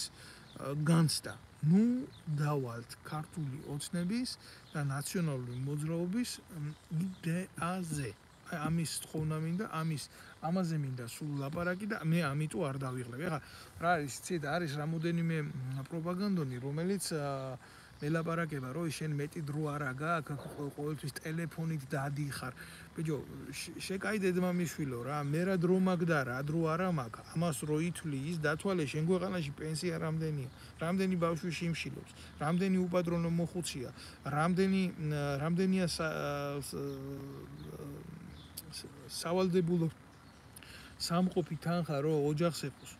S1: განცდა. ნუ დავალთ ქართული ოცნების და ნაციონალური მოძრაობის იდეაზე. ამის თხოვნა მინდა, ამაზე მინდა სულ ლაპარაკი და მე ამიტომ არ დავიღლებ. ეხლა რა არის, იცით, არის რამოდენიმე პროპაგანდონი, რომელიც ელაპარაკება, რომ შენ მეტი დრო არა გაქვს, ყოველთვის ტელეფონით დადიხარ. ბიჭო, შეკაიდე ძმამიშვილო რა, მე რა დრო მაქვს და რა დრო არა მაქვს. ამას რო ითვლი, ის დათვალე შენ ქვეყანაში პენსია რამდენია, რამდენი ბავშვი შიმშილობს, რამდენი უპატრონო მოხუცია, რამდენია სავალდებულო სამყოფი თანხა რო ოჯახს ეყოს.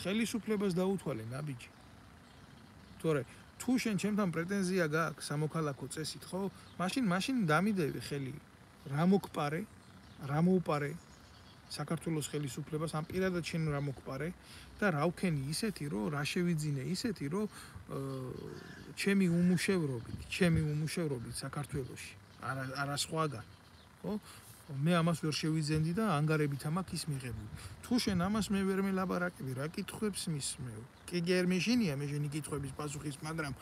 S1: ხელისუფლებას დაუთვალე ნაბიჯი. თორე თუ შენ ჩემთან პრეტენზია გაქვს სამოქალაქო წესით, ხო? მაშინ დამიდევი ხელი. რა მოგპარე? რა მოუპარე საქართველოს ხელისუფლებას? ამ პირადად შენ რა მოგპარე და რა ვქენი ისეთი, რომ რა შევიძინე ისეთი, რომ ჩემი უმუშევრობით საქართველოში, არა სხვაგან, ხო? მე ამას ვერ შევიძენდი და ანგარებით ამაქვს ის მიღებული. თუ შენ ამას მე ვერ მელაპარაკები, რა კითხვებს მისმევ? კი გერ მეშინია მე შენი კითხვების პასუხის, მაგრამ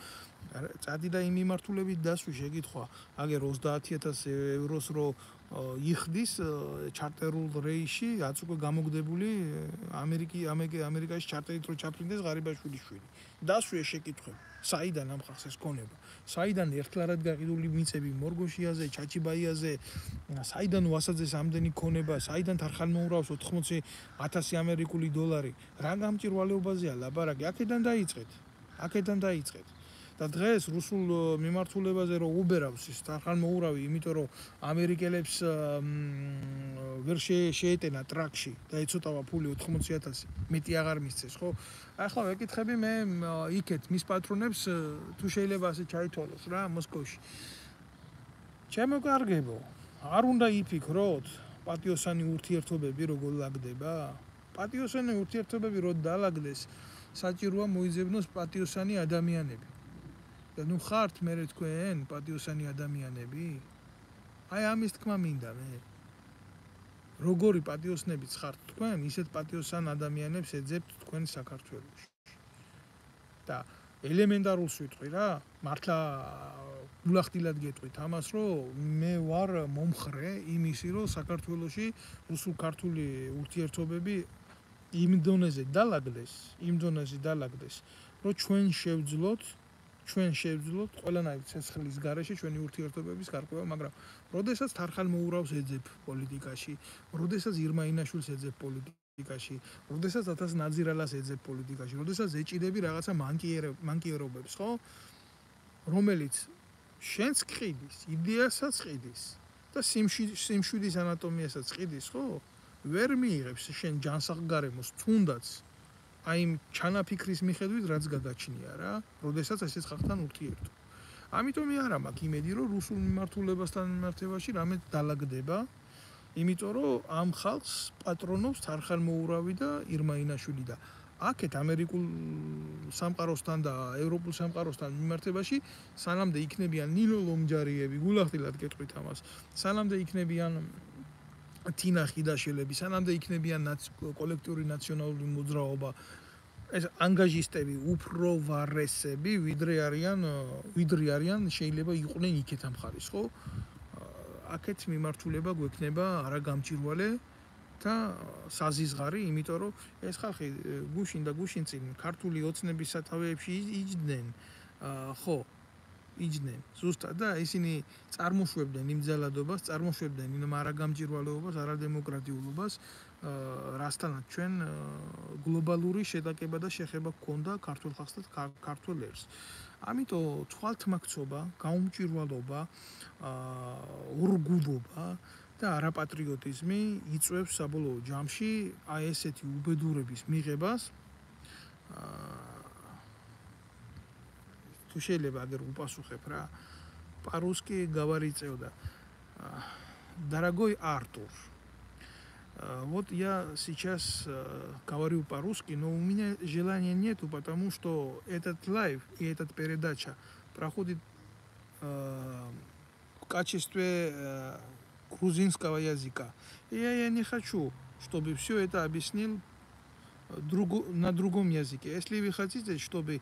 S1: წადი და იმ მიმართულებით დასვი შეკითხვა, აგერ 30,000 ევროს რო იხდის ჩარტერულ რეისში, რაც უკვე გამოგდებული ამერიკაში ჩარტერით რო ჩაფრინდეს ღარიბაშვილის შვილი. დასვი ეს შეკითხვები. საიდან ამ ხალხს ეს ქონება? საიდან ერთლარად გაყიდული მიწები მორგოშიაზე, ჩაჩიბაიაზე, საიდან ვასაძეს ამდენი ქონება, საიდან თარხანმოურავს 80,000 ამერიკული დოლარი? რა გამჭირვალეობაზეა ლაპარაკი? აქედან დაიწყეთ. და დღეს რუსულ მიმართულებაზე რო უბერავს ის თარხანმოურავი, იმიტომ რომ ამერიკელებს ვერ შეეტენა ტრაქში და ეცოტავა ფული 80,000, მეტი აღარ მისცეს, ხო? ახლა ვეკითხები მე იქეთ მის პატრონებს, თუ შეიძლება ასე ჩაითვალოს რა მოსკოვში. ჩემო კარგებო, არ უნდა იფიქროთ პატიოსანი ურთიერთობები როგორ ლაგდება? პატიოსანი ურთიერთობები რო დალაგდეს, საჭიროა მოიძებნოს პატიოსანი ადამიანები. და ნუ ხართ მე თქვენ პატიოსანი ადამიანები? აი ამის თქმა მინდა მე. როგორი პატიოსნებიც ხართ თქვენ, ისეთ პატიოსან ადამიანებს ეძებთ თქვენ საქართველოში. და ელემენტარულს ვიტყვი რა, მართლა გულახდილად გეტყვით ამას, რომ მე ვარ მომხრე იმისი, რომ საქართველოში რუსულ-ქართული ურთიერთობები იმ დონეზე დალაგდეს, რომ ჩვენ შევძლოთ ყველანაირი ცეცხლის გარეშე ჩვენი ურთიერთობების გარკვევა, მაგრამ როდესაც თარხანმოურავს ეძებ პოლიტიკაში, როდესაც ირმა ინაშვილს ეძებ პოლიტიკაში, როდესაც ათას ნაძირალას ეძებ პოლიტიკაში, როდესაც ეჭიდები რაღაცა მანკიერობებს, ხო? რომელიც შენს ყიდის, იდეასაც ყიდის და სიმშვიდის ანატომიასაც ყიდის, ხო? ვერ მიიღებს შენ ჯანსაღგარემოს თუნდაც აი იმ ჩანაფიქრის მიხედვით რაც გაგაჩნია რა, როდესაც ესეც ხალხთან ურთიერთო. ამიტომ მე არა მაქვს იმედი, რომ რუსულ მიმართულებასთან მიმართებაში რამე დალაგდება, იმიტომ რომ ამ ხალხს პატრონობს თარხანმოურავი და ირმა ინაშვილი და აქეთ ამერიკულ სამყაროსთან და ევროპულ სამყაროსთან მიმართებაში სანამდე იქნებიან ნინო ლომჯარიები, გულახდილად გეტყვით ამას, სანამდე იქნებიან თინა ხიდაშელები, სანამდე იქნებიან კოლექტიური ნაციონალური მოძრაობა, ეს ანგაჟისტები უფრო ვარესები, ვიდრე არიან შეიძლება იყვნენ იქეთ ამ ხარის, ხო? აქეთ მიმართულება გვექნება არა გამჭირვალე და საზიზღარი, იმიტომ რომ ეს ხალხი გუშინ და გუშინწინ ქართული ოცნების სათავეებში იჯდნენ, ხო? იჯდნენ ზუსტად და ისინი წარმოშვებდნენ იმ ძალადობას, წარმოშვებდნენ იმ არაგამჭირვალეობას, არადემოკრატიულობას, რასთანაც ჩვენ გლობალური შეტაკება და შეხება გქონდა ქართულ ხალხს და ქართულ ერს. ამიტომ თვალთმაქცობა, გაუმჭირვალობა, ორგულობა და არაპატრიოტიზმი იწვევს საბოლოო ჯამში აი ესეთი უბედურების მიღებას. თუ შეიძლება აგერ უპასუხებ რა. По-русски говорится, да. Дорогой Артур, вот я сейчас говорю по-русски, но у меня желания нету, потому что этот лайв и эта передача проходит в качестве грузинского языка. И я не хочу, чтобы все это объяснил на другом языке. Если вы хотите, чтобы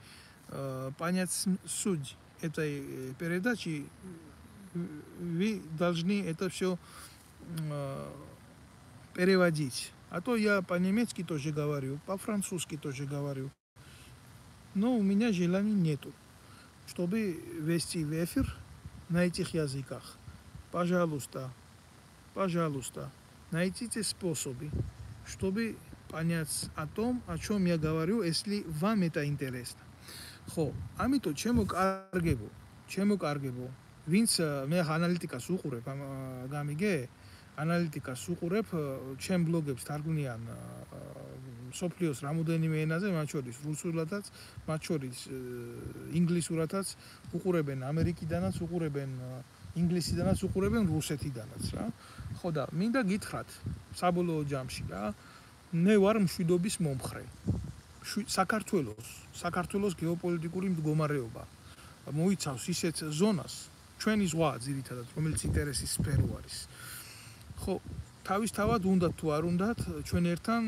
S1: понять суть этой передачи, вы должны это все переводить. А то я по-немецки тоже говорю, по-французски тоже говорю. Но у меня желания нету, чтобы вести в эфир на этих языках. Пожалуйста, найдите способы, чтобы понять о том, о чем я говорю, если вам это интересно. ხო, ამიტომ ჩემო კარგებო, ვინც მე ანალიტიკას უყურებ, გამიგე? ანალიტიკას უყურებ, ჩემ ბლოგებს თარგმნიან სოფლიოს რამოდენიმე ენაზე, მათ შორის რუსულადაც, მათ შორის ინგლისურადაც, უყურებენ ამერიკიდანაც, უყურებენ ინგლისიდანაც, უყურებენ რუსეთიდანაც, რა. ხო და მინდა გითხრათ, საბოლოო ჯამში რა, მე ვარ მშვიდობის მომხრე. საქართველოს გეოპოლიტიკური მდგომარეობა მოიცავს ისეთ ზონას, ჩვენი ზღვა ძირითადად, რომელიც ინტერესის სფერო არის. ხო, თავისთავად უნდათ თუ არ უნდათ, ჩვენ ერთთან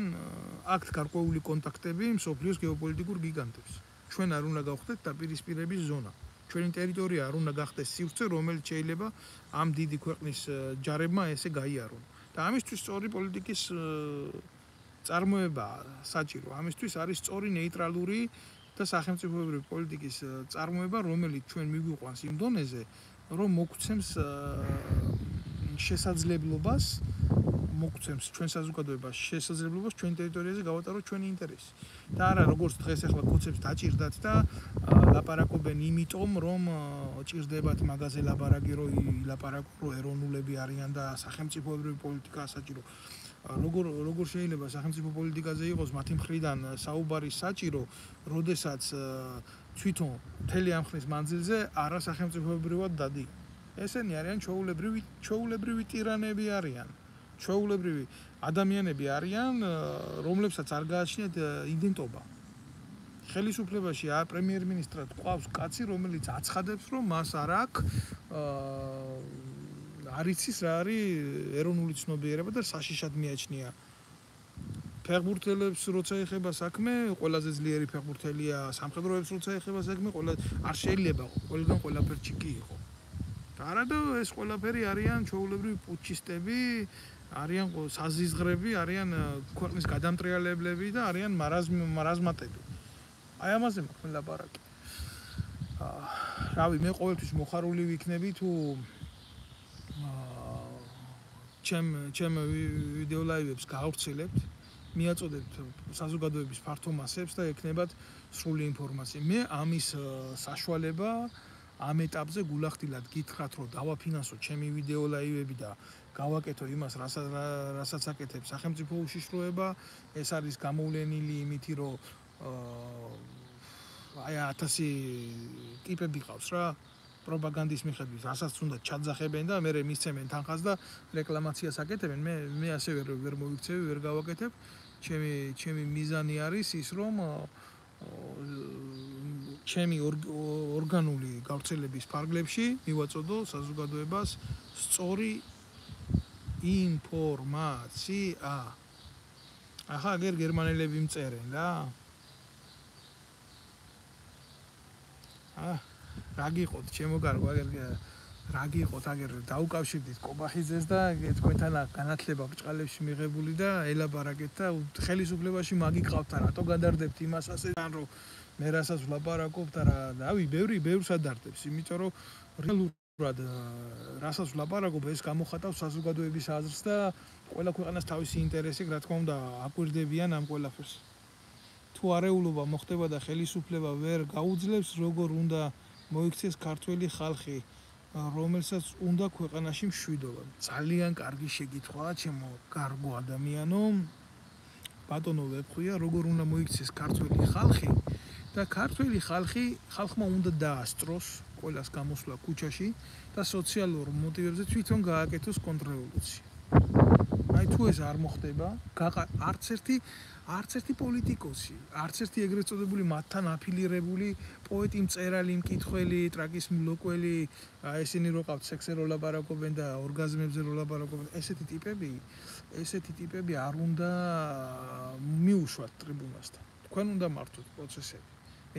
S1: აქვთ გარკვეული კონტაქტები მსოფლიოს გეოპოლიტიკურ გიგანტებს. ჩვენ არ უნდა გავხდეთ დაპირისპირების ზონა. ჩვენი ტერიტორია არ უნდა გახდეს სივრცე, რომელიც შეიძლება ამ დიდი ქვეყნის ჯარებმა ესე გაიარონ. და ამისთვის სწორი პოლიტიკის წარმოება საჭირო. ამისთვის არის სწორი ნეიტრალური და სახელმწიფოებრივი პოლიტიკის წარმოება, რომელიც ჩვენ მიგვიყვანს იმ დონეზე, რომ მოგცემს შესაძლებლობას, მოგცემს ჩვენ საზოგადოებას შესაძლებლობას ჩვენ ტერიტორიაზე გავატაროთ ჩვენი ინტერესი. და არა როგორც დღეს ახლა კოცებს დაჭირდათ და ლაპარაკობენ იმიტომ, რომ ჭირდებათ მაგაზე ლაპარაკი, რომ ილაპარაკო ეროვნულები არიან და სახელმწიფოებრივი პოლიტიკაა საჭირო. როგორ შეიძლება სახელმწიფო პოლიტიკაზე იყოს მათი მხრიდან საუბარი საჭირო, როდესაც თვითონ მთელი ამ ხნის მანძილზე არა სახელმწიფოებრივად დადი. ესენი არიან ჩვეულებრივი ტირანები არიან. ჩვეულებრივი ადამიანები არიან, რომლებსაც არ გააჩნიათ იდენტობა. ხელისუფლებაში პრემიერ-მინისტრად ყავს კაცი, რომელიც აცხადებს, რომ მას არ აქვს არ იცის რა არის ეროვნული ცნობიერება და საშიშად მიაჩნია. ფეხბურთელებს როცა ეხება საქმე, ყველაზე ძლიერი ფეხბურთელია, სამხედროებს როცა ეხება საქმე, არ შეიძლება ყველგან ყველაფერში კი იყო. და არადა ეს ყველაფერი არიან ჩვეულებრივი პუჩისტები, არიან საზიზღრები, არიან ქვეყნის გადამტრიალებლები და არიან მარაზმატები. აი ამაზე მაქვს ლაპარაკი. რავი, მე ყოველთვის მოხარული ვიქნები თუ ჩემ ვიდეო ლაივებს გაავრცელებთ, მიაწოდებთ საზოგადოების ფართო მასებს და ექნებათ სრული ინფორმაცია. მე ამის საშუალება ამ ეტაპზე გულახდილად გითხრათ, რომ დავაფინანსო ჩემი ვიდეო ლაივები და გავაკეთო იმას, რასაც აკეთებს სახელმწიფო უშიშროება. ეს არის გამოვლენილი იმითი, რომ აი 1000 ტიპები ყავს რა. პროპაგანდის მიხედვით, რასაც უნდა ჩაძახებენ და მერე მისცემენ თანხას და რეკლამაციას აკეთებენ. მე ასე ვერ მოვიქცევი, ვერ გავაკეთებ. ჩემი მიზანი არის ის, რომ ჩემი ორგანული გავრცელების ფარგლებში მივაწოდო საზოგადოებას სწორი ინფორმაცია. ახლა აგერ გერმანელები მწერენ რა. რა გიყოთ, ჩემო კარგო, აგერ რა გიყოთ, აგერ დაუკავშირდით კობახიძეს და თქვენთან განათლება ბჭყალებში მიღებული და ელაპარაკეთ და ხელისუფლებაში მაგიყავთ და რატო გადარდებთ იმას ასეთან, რომ მე რასაც ვლაპარაკობ და რავი, ბევრს ადარდებს, იმიტომ რომ რეალურად რასაც ვლაპარაკობ, ეს გამოხატავს საზოგადოების აზრს და ყველა ქვეყანას თავისი ინტერესი, რა თქმა უნდა, აკვირდებიან ამ ყველაფერს. თუ არეულობა მოხდება და ხელისუფლება ვერ გაუძლებს, როგორ უნდა მოიქცეს ქართველი ხალხი რომელსაც უნდა ქვეყანაში მშვიდობა. ძალიან კარგი შეკითხვაა, ჩემო კარგო ადამიანო. ბატონო ვეფხვია, როგორ უნდა მოიქცეს ქართველი ხალხი და ქართველი ხალხმა უნდა დაასწროს ყველას გამოსვლა ქუჩაში და სოციალურ მოტივებზე თვითონ გააკეთოს კონტრრევოლუცია. აი თუ ეს არ მოხდება, არც ერთი პოლიტიკოსი, არც ერთი ეგრეთ წოდებული მათთან აფილირებული პოეტი, მწერალი, მკითხველი, ტრაკის მლოკველი, ესენი რო ყავთ სექსზე რო ლაპარაკობენ და ორგაზმებზე რო ლაპარაკობენ, ესეთი ტიპები არ უნდა მიუშვათ ტრიბუნასთან. თქვენ უნდა მართოთ პროცესები.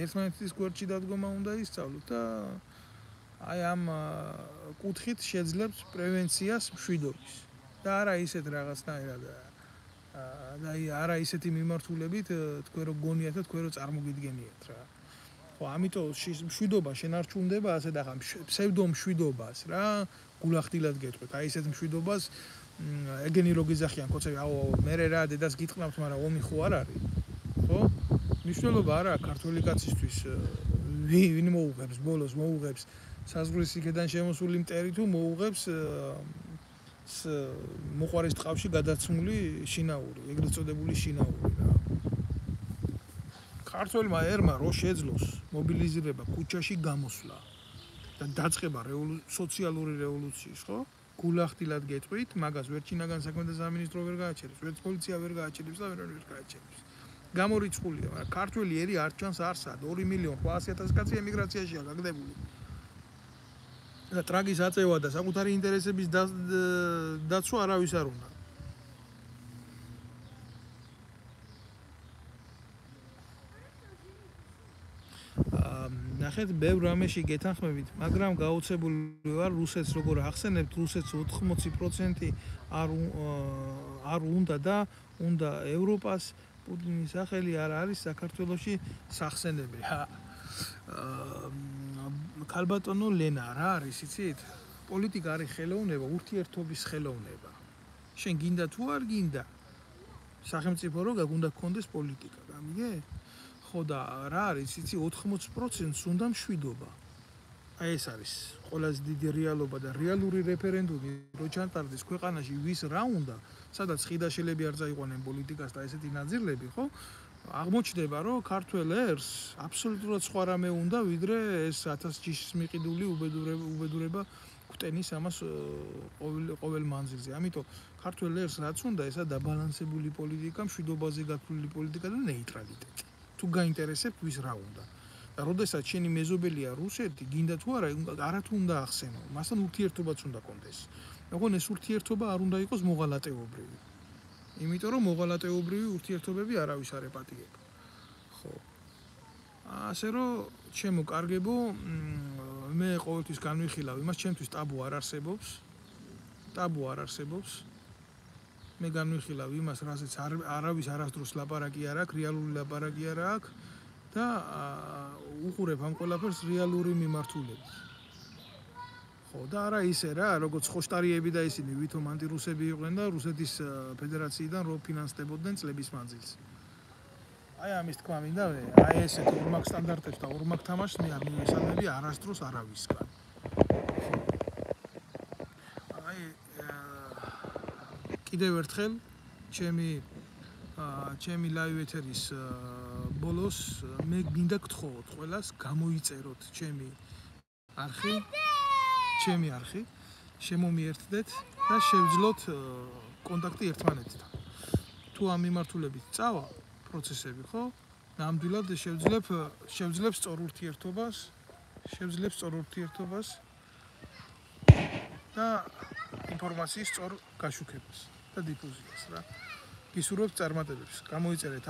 S1: ერთმანეთის გვერდში დადგომა უნდა ისწავლოთ და აი ამ კუთხით შეძლებს პრევენციას მშვიდობის. და არა ისეთ რაღაცნაირად და არა ისეთი მიმართულებით თქვენ რო გონიათ და თქვენ რო წარმოგიდგენიათ რა. ხო, ამიტომ მშვიდობა შენარჩუნდება ასე და ხა ფსევდო მშვიდობას რა გულახდილად გეტყვით. აი ესეთ მშვიდობას ეგენი რო გიზახიან კოცები, აუ მე რა დედას გიტყნავთ, მაგრამ ომი ხო არ არის. ხო? მნიშვნელობა არა ქართული კაცისთვის ვინ მოუღებს ბოლოს მოუღებს საზღვრის იქედან შემოსული მტერი თუ მოუღებს მოყვარის ტყავში გადაცმული შინაური, ეგრეთ წოდებული შინაური რა. ქართველმა ერმა რო შეძლოს მობილიზირება ქუჩაში გამოსვლა და დაწყება სოციალური რევოლუციის, ხო? გულახდილად გეტყვით, მაგას ვერ ჩინაგან საქმეთა სამინისტრო ვერ გააჩერებს, ვერც პოლიცია ვერ გააჩერებს და ვერ გააჩერებს. გამორიცხულია, მაგრამ ქართველი ერი არ ჩანს არსად, 2.800.000 კაცი ემიგრაციაშია გაგდებული. და ტრაგის აწევა და საკუთარი ინტერესების დაცვა არავის არ უნდა. ნახეთ, ბევრ რამეში გეთანხმებით, მაგრამ გაუცებული ვარ რუსეთს როგორ ახსენებთ, რუსეთს 80% არ უნდა და უნდა ევროპას პუტინის სახელი არ არის საქართველოში სახსენები. ქალბატონო ლენა რა არის იცით? პოლიტიკა არის ხელოვნება, ურთიერთობის ხელოვნება. შენ გინდა თუ არ გინდა? სახელმწიფო რო გაგუნდა გქონდეს პოლიტიკა, გამიგე? ხო და რა არის იცი 80%-ს უნდა მშვიდობა. აი ეს არის ყველაზე დიდი რეალობა და რეალური რეფერენდუმი რო ჩატარდეს ქვეყანაში ვის რა უნდა, სადაც ხიდაშელები არ წაიყვანენ პოლიტიკას და ესეთი ნაძირლები, ხო? აღმოჩნდება, რომ ქართველ ერს აბსოლუტურად სხვა რამე უნდა, ვიდრე ეს 1000 ჯიშის მიყიდული უბედურება გვტენის ამას ყოველ მანძილზე. ამიტომ ქართველ ერს რაც უნდა, ესა დაბალანსებული პოლიტიკა, მშვიდობაზე გათვლილი პოლიტიკა და ნეიტრალიტეტი. თუ გაინტერესებთ ვის რა უნდა. და როდესაც შენი მეზობელია რუსეთი, გინდა თუ არა, არათუ უნდა ახსენო, მასთან ურთიერთობაც უნდა კონდეს. მაგრამ ეს ურთიერთობა არ უნდა იყოს მოღალატეობრივი. იმიტომ რომ მოღალატეობრივი ურთიერთობები არავის არ ეპატიება. ხო. ასე რომ ჩემო კარგებო, მე ყოველთვის განვიხილავ იმას, ჩემთვის ტაბუ არ არსებობს. მე განვიხილავ იმას, რასაც არავის არასდროს ლაპარაკი არ აქვს, რეალური ლაპარაკი არ აქვს და უყურებ ამ ყველაფერს რეალური მიმართულებით. ხო და არა ისე რა, როგორც ხოშტარიები და ისინი ვითომ ანტირუსები იყვნენ და რუსეთის ფედერაციიდან რო ფინანსდებოდნენ წლების მანძილზე. აი ამის თქმა მინდა, აი ესეთ ორმაგ სტანდარტებს და ორმაგ თამაშს მე არ მივესალმები არასდროს არავისგან. აი კიდევ ერთხელ ჩემი ლაივ ეთერის ბოლოს მე გინდა გთხოვოთ ყველას გამოიწეროთ ჩემი არხი, შემომიერთდეთ და შევძლოთ კონტაქტი ერთმანეთთან. თუ ამ მიმართულებით წავა პროცესები, ხო? ნამდვილად შევძლებს სწორ ურთიერთობას და ინფორმაციის სწორ გაშუქებას და დიფუზიას რა. გისურვებთ წარმატებებს. გამოიწერეთ